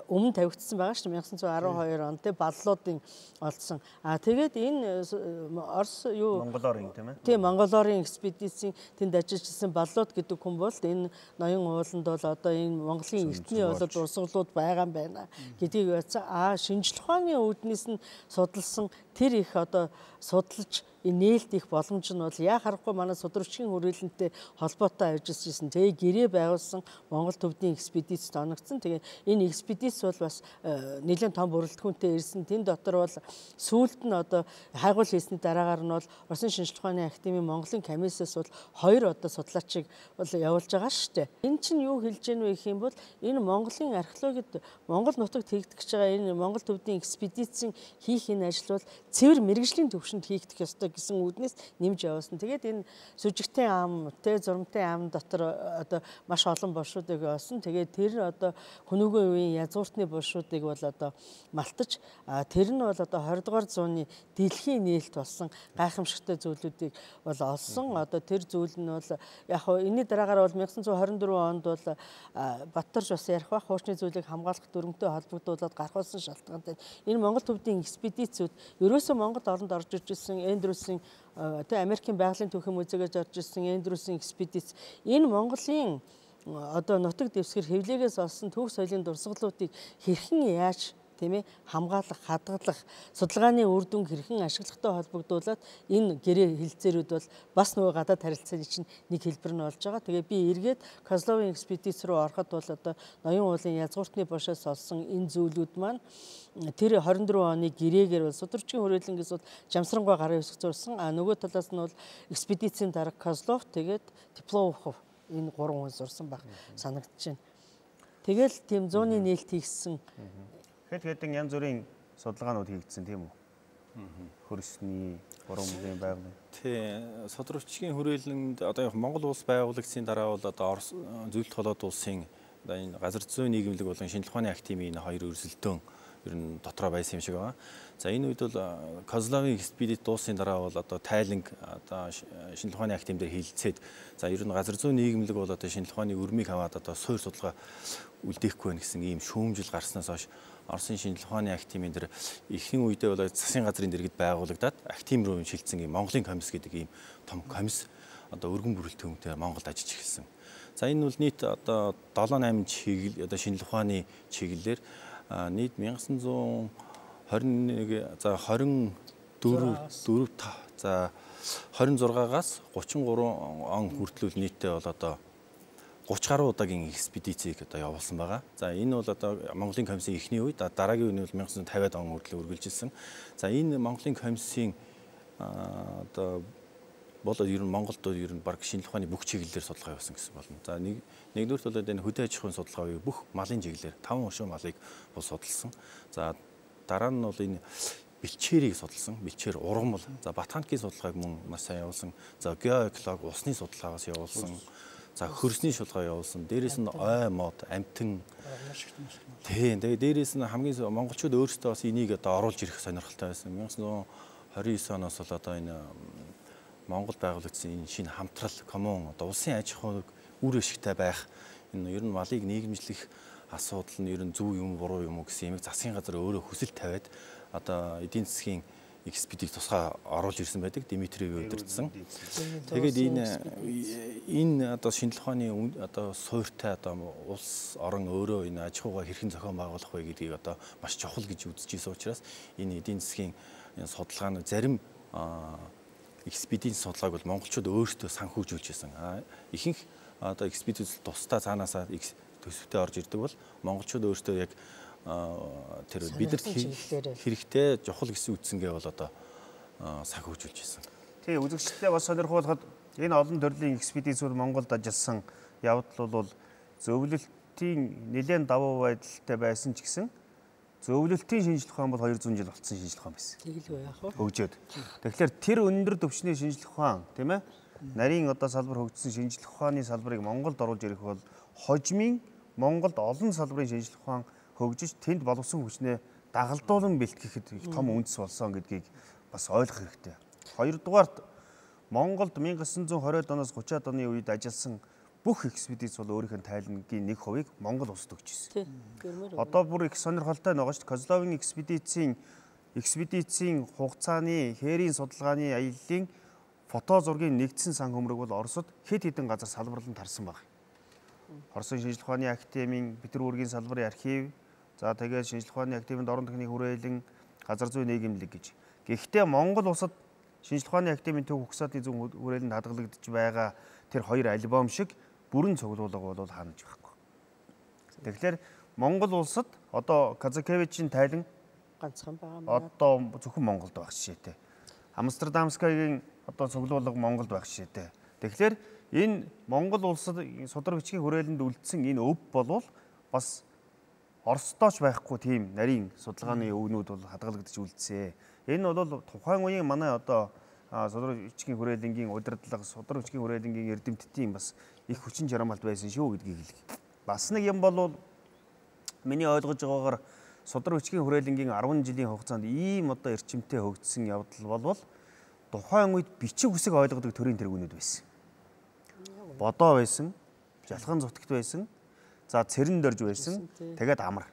өмнө тавигдсан байгаа шүү дээ 1912 он тий баллуудын олдсон. Тэгээд энэ Орос юу Монголоор тийм ээ. Тийм Монголоор экспедицийн тэнд ажиллаж ирсэн баллууд гэдэг хүн бол энэ ноён ууланд бол одоо энэ Монголын эртний болоод урсгалууд байгаа юм байна гэдгийг ярьсан. Шинжлэх ухааны үүднээс нь судалсан тэр их одоо судалж нээлт их боломж нь бол яа харахгүй манай судрагчийн хүрээлэнтэй холбоотой ажиллаж ирсэн. Тэгээ гэрээ байгуулсан Монгол төвдийн экспедицид оногдсон. Тэгээ энэ экспедиц бол бас нэлээд том бүрэлдэхүүнтэй ирсэн. Тэн дотор бол сүүлд нь одоо хайгуул хийсний дараагаар нь бол Оросын шинжлэх ухааны академийн Монголын комиссаас бол 2 одоо судлаачийг бол явуулж байгаа шүү дээ. Энэ чинь юу хэлж гэнэ вэ гэх юм бол энэ Монголын археологид Монгол нутагт хийгдэж байгаа энэ Монгол төвдийн экспедицийн хийх энэ ажил бол цэвэр мэргэжлийн төвшөнд хийгдэх ёстой гэсэн үүднээс нэмж явуулсан. Тэгээд энэ сүжигтэй ам, зурмтай ам дотор одоо маш олон боршуудыг олсон. Тэгээд тэр одоо хөнөөгөө үеийн язгууртны боршуудыг бол одоо малтаж, тэр нь бол одоо 20 дугаар зууны дэлхийн нээлт болсон гайхамшигтай зүйлүүдийг бол олсон. Одоо тэр зүйл нь бол яг хоо энэний дараагаар бол 1924 онд бол Баттарж бас ярих бах хуучны зүйлийг хамгаалах дүрмтэй холбогдуулаад гаргуулсан шалтгаантай энэ Монгол төвдийн экспедицүүд ерөөсөө Монгол оронд орж ирсэн Эндрюсийн Америкийн байгалийн түүхийн музейгээс орж ирсэн Эндрюсийн экспедиц энэ Монголын одоо нутаг дэвсгэр хэвлэгээс олсон түүх соёлын дурсгалуудыг хэрхэн яаж тийм ээ хамгаалах, хадгалах, судалгааны үр дүнг хэрхэн ашиглагтай холбогдуулаад энэ гэрээ хилцээрүүд бол бас нөгөө гадаад харилцааны чинь нэг хэлбэр нь болж байгаа. Тэгээ би эргээд Козловын экспедиц рүү ороход бол одоо ноён уулын язгууртны бошоос олсон энэ зүйлүүд маань тэр 24 оны гэрээгээр бол судрагчийн хүрээлэнгээс бол Жамсрангуй гарын хэсэг зурсан. А нөгөө талаас нь бол экспедицийн дарга Козлов тэгээд Тепловхов энэ 3 хүн зурсан баг санагдаж байна. Тэгэл тийм 100-ны нээлт хийгдсэн. Хэд хэдэн янз бүрийн судалгаанууд хийгдсэн тийм үү? Хөрсний, гурван байгалийн. Тий, содрогчгийн хүрээлэнд одоо Монгол улс байгуулагдсны дараа бол одоо Орос зөвлөлт холоод улсын одоо энэ газар зүйн нийгэмлэг болон шинжилгээ ухааны активын энэ хоёр өрсөлдөөн ер нь дотроо байсан юм шиг байна. За энэ үед бол Козловын экспедит дуусны дараа бол одоо тайланг одоо шинжилгээ ухааны актив дээр хилцээд за ер нь газар зүйн нийгэмлэг бол одоо шинжилгээ ухааны өрмийг аваад одоо суур судалгаа үлдээхгүй байна гэсэн ийм шүүмжил гарснаас хойш Оросын шинжилгээ ухааны активын дээр ихэнх үедээ бол засгийн газрын дэргэд байгуулагдаад актив руу шилжсэн ийм Монголын комисс гэдэг ийм том комисс одоо өргөн бүрэлдэхүүн төмтэй Монголд ажиллаж эхэлсэн. За энэ бол нийт одоо 7-8 чиглэл одоо шинжилгээ ухааны чиглэлээр нийт 1921 за 24 за 26-аас 33 он хүртэл нийтдээ бол одоо 30 гаруй удаагийн экспедицийг одоо явуулсан байгаа. За энэ бол одоо Монголын комиссийн эхний үед дараагийн үе нь 1950-ад он хүртэл үргэлжилсэн. За энэ Монголын комиссийн одоо бол ер нь Монголд ер нь баг шинжилгээ ухааны бүх чиглэлээр судалгаа явуулсан гэсэн болно. За нэгдүгürt бол энэ хөдөө аж ахуйн судалгаа буюу бүх малын чиглэлээр 5 оршин малыг бол судалсан. За дараа нь бол энэ бэлчээрийг судалсан. Бэлчээр ургамал. За ботаникийн судалгааг мөн маш сайн явуулсан. За геоэколог усны судалгаагаас явуулсан. За хөрсний судалгаа явуулсан. Дээрээс нь ой мод, амтан. Тийм. Тэгээ дээрээс нь хамгийн монголчууд өөрсдөө бас энийг одоо оруулж ирэх сонирхолтой байсан. 1929 оноос бол одоо энэ Монгол байгуулагдсан энэ шинэ хамтрал коммун одоо улсын аж ахуйг үр ашигтай байх энэ ер нь малыг нийгэмжлэх асуудал нь ер нь зөв юм буруу юм уу гэсэн юмыг засгийн газар өөрөө хүсэл тавиад одоо эдийн засгийн экспедит тусгай оруулж ирсэн байдаг Дмитриев удирдсан. Тэгээд энэ одоо шинжилгээ ухааны одоо суурьтай одоо улс орон өөрөө энэ аж ахуйгаа хэрхэн зохион байгуулах вэ гэдгийг одоо маш чухал гэж үзэж ирсэн учраас энэ эдийн засгийн судалгааны зарим экспедицийн судалгааг бол монголчууд өөрсдөө санхүүжүүлж байсан. Ихэнх одоо экспедиц тусдаа цаанаасаа төсөвтэй орж ирдэг бол монголчууд өөрсдөө яг тэр бидэрт хэрэгтэй чухал гэсэн үтсэнгээ бол одоо санхүүжүүлж байсан. Тий, үзэгчдээ бас сонирхуулахад энэ олон төрлийн экспедицүүд Монголд ажилласан явдал бол зөвлөлтийн нэлээд давуу байдалтай байсан ч гэсэн зөвлөлтийн шинжилгээ ухаан бол 200 жил болсон шинжилгээ ухаан байсан. Тэгэлгүй яах вэ? Хөгжөөд. Тэгэхээр тэр өндөр түвшний шинжилгээ ухаан, тийм ээ? Нарийн одоо салбар хөгжсөн шинжилгээ ухааны салбарыг Монголд оруулж ирэх бол хожмын Монголд олон салбарын шинжилгээ ухаан хөгжиж тэнд боловсон хүчнээ дагалдуулан бэлтгэхэд их том үндэс болсон гэдгийг бас ойлгох хэрэгтэй. Хоёрдугаарт Монголд 1920-ад оноос 30-ад оны үед ажилласан бүх экспедиц бол өөрийнх нь тайлангийн 1% Монгол улсад өгч ирсэн. Одоо бүр их сонирхолтой байгаа шүү дээ. Козловын экспедицийн хугацааны хээрийн судалгааны аяллаа фото зургийн нэгдсэн сан хөмрөг бол Оросд хэд хэдэн газар салбарлан тарсан баг. Оросын шинжилгээ ухааны активын Петербургийн салбарын архив, за тэгээд шинжилгээ ухааны активын дорн техник хүрээлэн, газар зүйн нийгэмлэг гэж. Гэхдээ Монгол улсад шинжилгээ ухааны активын төв ухсаатын зүүн хүрээлэнд хадгалагдж байгаа тэр хоёр альбом шиг бүрэн цуглуулга бол хаанаж байхгүй. Тэгэхээр Монгол улсад одоо Казакевичийн тайлан ганцхан байгаа. Одоо зөвхөн Монголд байх жишээтэй. Амстердамскагийн одоо цуглуулга Монголд байх жишээтэй. Тэгэхээр энэ Монгол улсад судар бичгийн хүрээлэнд үлдсэн энэ өв болвол бас Оросдооч байхгүй тийм нарийн судалгааны өвнүүд бол хадгалагдаж үлдсэн. Энэ бол тухайн үеийн манай одоо судар бичгийн хүрээлэнгийн удирдлага, судар бичгийн хүрээлэнгийн эрдэмтдийн бас их хүчин чармаалт байсан шүү гэдгийг хэлье. Бас нэг юм бол миний ойлгож байгаагаар судар бичгийн хүрээлэнгийн 10 жилийн хугацаанд ийм одоо эрчимтэй хөгжсөн явдал болвол тухайн үед бичиг үсэг ойлгодог төрийн тэргүүнүүд байсан. Бодоо байсан, жалхан зүтгэт байсан, за цэрэн дөрж байсан, тэгээд амар.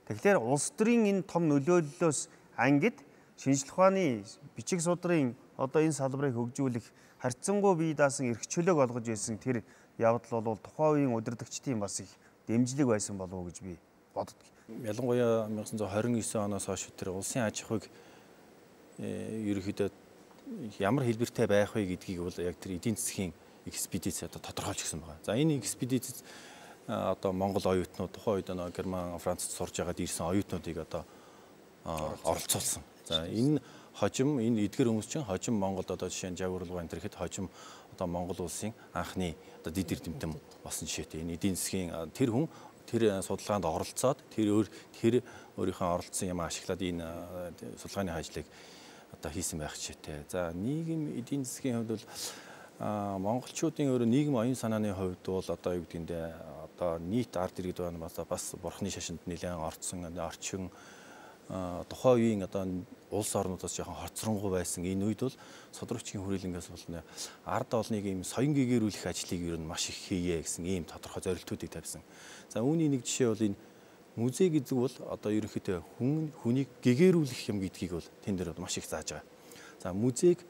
Тэгэхээр улс төрийн энэ том нөлөөллөөс ангид шинжилгээ ухааны бичиг судрын одоо энэ салбарыг хөгжүүлэх харьцангуй бие даасан эрх чөлөөг олгож байсан тэр явдал бол тухайн үеийн удирдагчдын бас их дэмжлэг байсан болов уу гэж би боддог. Ялангуяа 1929 оноос хойш тэр улсын аж ахуйг ерөнхийдөө ямар хэлбэртэй байх вэ гэдгийг бол яг тэр эдийн засгийн экспедиц одоо тодорхойлж гисэн байгаа. За энэ экспедиц одоо Монгол оюутнууд тухайн үед Герман, Францад сурж байгаад ирсэн оюутнуудыг одоо оролцуулсан. За энэ хожим энэ эдгэр хүмүүс чинь хожим Монголд одоо жишээ нь жагуурлага энэ төрхэд хожим одоо Монгол улсын анхны одоо дид эрдэмтэн болсон жишээтэй. Энэ эдийн засгийн тэр хүн тэр судалгаанд оролцоод тэр өөрийнхөө оролцсон юм ашиглаад энэ судалгааны ажлыг одоо хийсэн байх жишээтэй. За нийгэм эдийн засгийн хувьд бол монголчуудын өөрөө нийгэм оюун санааны хувьд бол одоо юу гэдгийг одоо нийт ард иргэд байна бас бурхны шашинд нэлээд орцсон орчин тухайн үеийн одоо улс орнуудаас жоохон хоцронгуй байсан энэ үед бол содрогчгийн хүрээлэнгээс бол ард олныг ийм соён гэгэрүүлэх ажлыг ер нь маш их хийе гэсэн ийм тодорхой зорилтуудыг тавьсан. За үүний нэг жишээ бол энэ музей гэдэг бол одоо ерөнхийдөө хүнийг гэгэрүүлэх юм гэдгийг бол тэн дээр маш их зааж байгаа. За музейг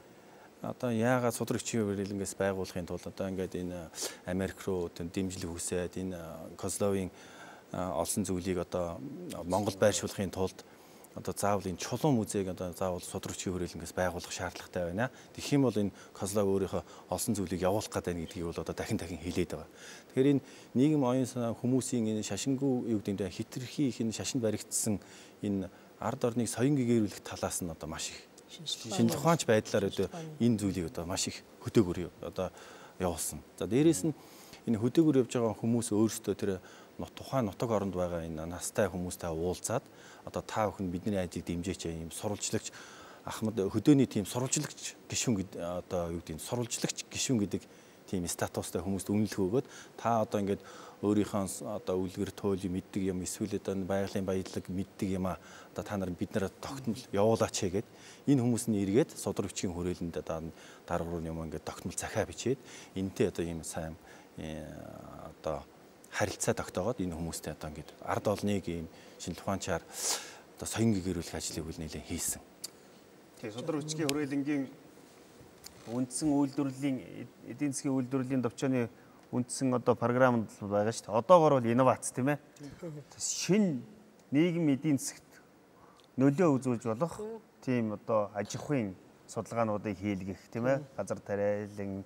одоо яагаад содрогчийн хүрээлэнгээс байгуулахын тулд одоо ингээд энэ Америк руу дэмжлэг хүсээд энэ Козловын олсон зүйлийг одоо Монгол байршуулахын тулд одоо заавал энэ чулуун музейг одоо заавал содрогчийн хүрээлэнгээс байгуулах шаардлагатай байна. Тэгэх юм бол энэ Козлов өөрийнхөө олсон зүйлийг явуулах гэдэг нь гэдгийг бол одоо дахин хэлээд байгаа. Тэгэхээр энэ нийгэм оюун санаа хүмүүсийн энэ шашингүй юу гэдэг нь хитрхи их энэ шашинд баригдсан энэ ард орныг соён гэгэрүүлэх талаас нь одоо маш их шинжлэх ухаанч байдлаар одоо энэ зүйлийг одоо маш их хөдөөгөр одоо явуулсан. За дээрээс нь энэ хөдөөгөр явж байгаа хүмүүс өөрсдөө тэр тухайн нутаг оронд байгаа энэ настай хүмүүстэй уулзаад одоо та бүхэн бидний ажлыг дэмжээч юм сурвалжлагч Ахмад хөдөөний тийм сурвалжлагч гишүүн гэдэг одоо юу гэдэг нь сурвалжлагч гишүүн гэдэг тийм статустай хүмүүст үнэлэх өгөөд та одоо ингээд өөрийнхөө одоо үлгэр туйлыг мэддэг юм эсвэл одоо байгалийн баялаг мэддэг юм одоо та нар бид нараа тогтмол явуулаач гэгээд энэ хүмүүс нь эргээд содрогчгийн хүрээлэнд одоо дарга руу юм ингээд тогтмол захиа бичээд энтэй одоо ийм сайн одоо харилцаа тогтоогоод энэ хүмүүстэй одоо ингээд ард олныг ийм шинжлэх ухаанчаар одоо соён гэгэрүүлэх ажлыг үл нэлээд хийсэн. Тэгээ содрогчгийн хүрээлэнгийн үндсэн үйлдвэрлэлийн эдийн засгийн үйлдвэрлэлийн төвчөөний үндсэн одоо програмд байгаа шүү дээ. Одоогоор бол инновац тийм ээ. Шинэ нийгэм эдийн засгт нөлөө үзүүлж болох тийм одоо аж ахуйн судалгаануудыг хийлгэх тийм ээ. Газар тариалан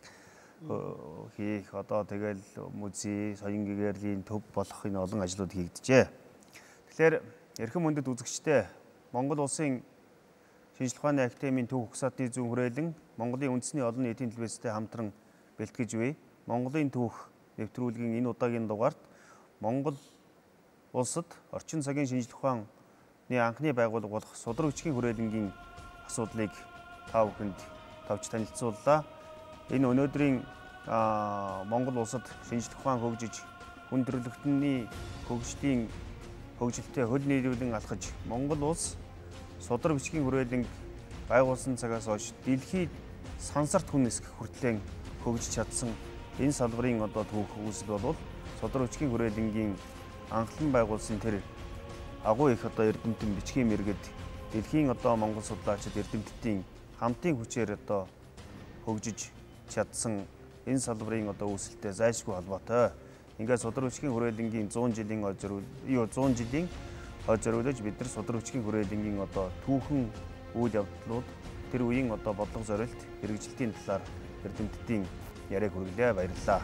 хийх одоо тэгэл музей, соён гэгэрлийн төв болох энэ олон ажлууд хийгдэжээ. Тэгэхээр эрхэм мөндөд үзэгчдээ Монгол улсын шинжлэх ухааны академийн төв угсаатны зүүн хүрээлэн Монголын үндэсний олон нийтийн телевизтэй хамтран бэлтгэж буй Монголын түүх нэвтрүүлгийн энэ удаагийн дугаарт Монгол улсад орчин цагийн шинжлэх ухааны анхны байгууллага болох Судрагчгийн хүрээлэнгийн асуудлыг та бүхэнд товч танилцууллаа. Энэ өнөөдрийн Монгол улсад шинжлэх ухаан хөгжиж хүн төрөлхтний хөгжлийн хөгжилтэй хөл нийлүүлэн алхаж Монгол улс Судраг бичгийн хүрээлэнг байгуулсан цагаас хойш дэлхийд сансарт хүн нисэх хүртлээр хөгжиж чадсан энэ салбарын одоо түүх үүсэл бол Судраг бичгийн хүрээлэнгийн анхлан байгуулсан тэр агуу их одоо эрдэмтэн бичгийн мэргэд дэлхийн одоо Монгол судлаачид эрдэмтдийн хамтын хүчээр одоо хөгжиж чадсан энэ салбарын одоо үүсэлтэй зайлшгүй холбоотой. Ингээд Судраг бичгийн хүрээлэнгийн 100 жилийн хойд зориулж бид нар Судраг бичгийн хүрээлэнгийн одоо түүхэн үйл явдлууд тэр үеийн одоо бодлого зорилт хэрэгжилтийн талаар эрдэмтдийн яриаг хүргэлээ. Баярлалаа.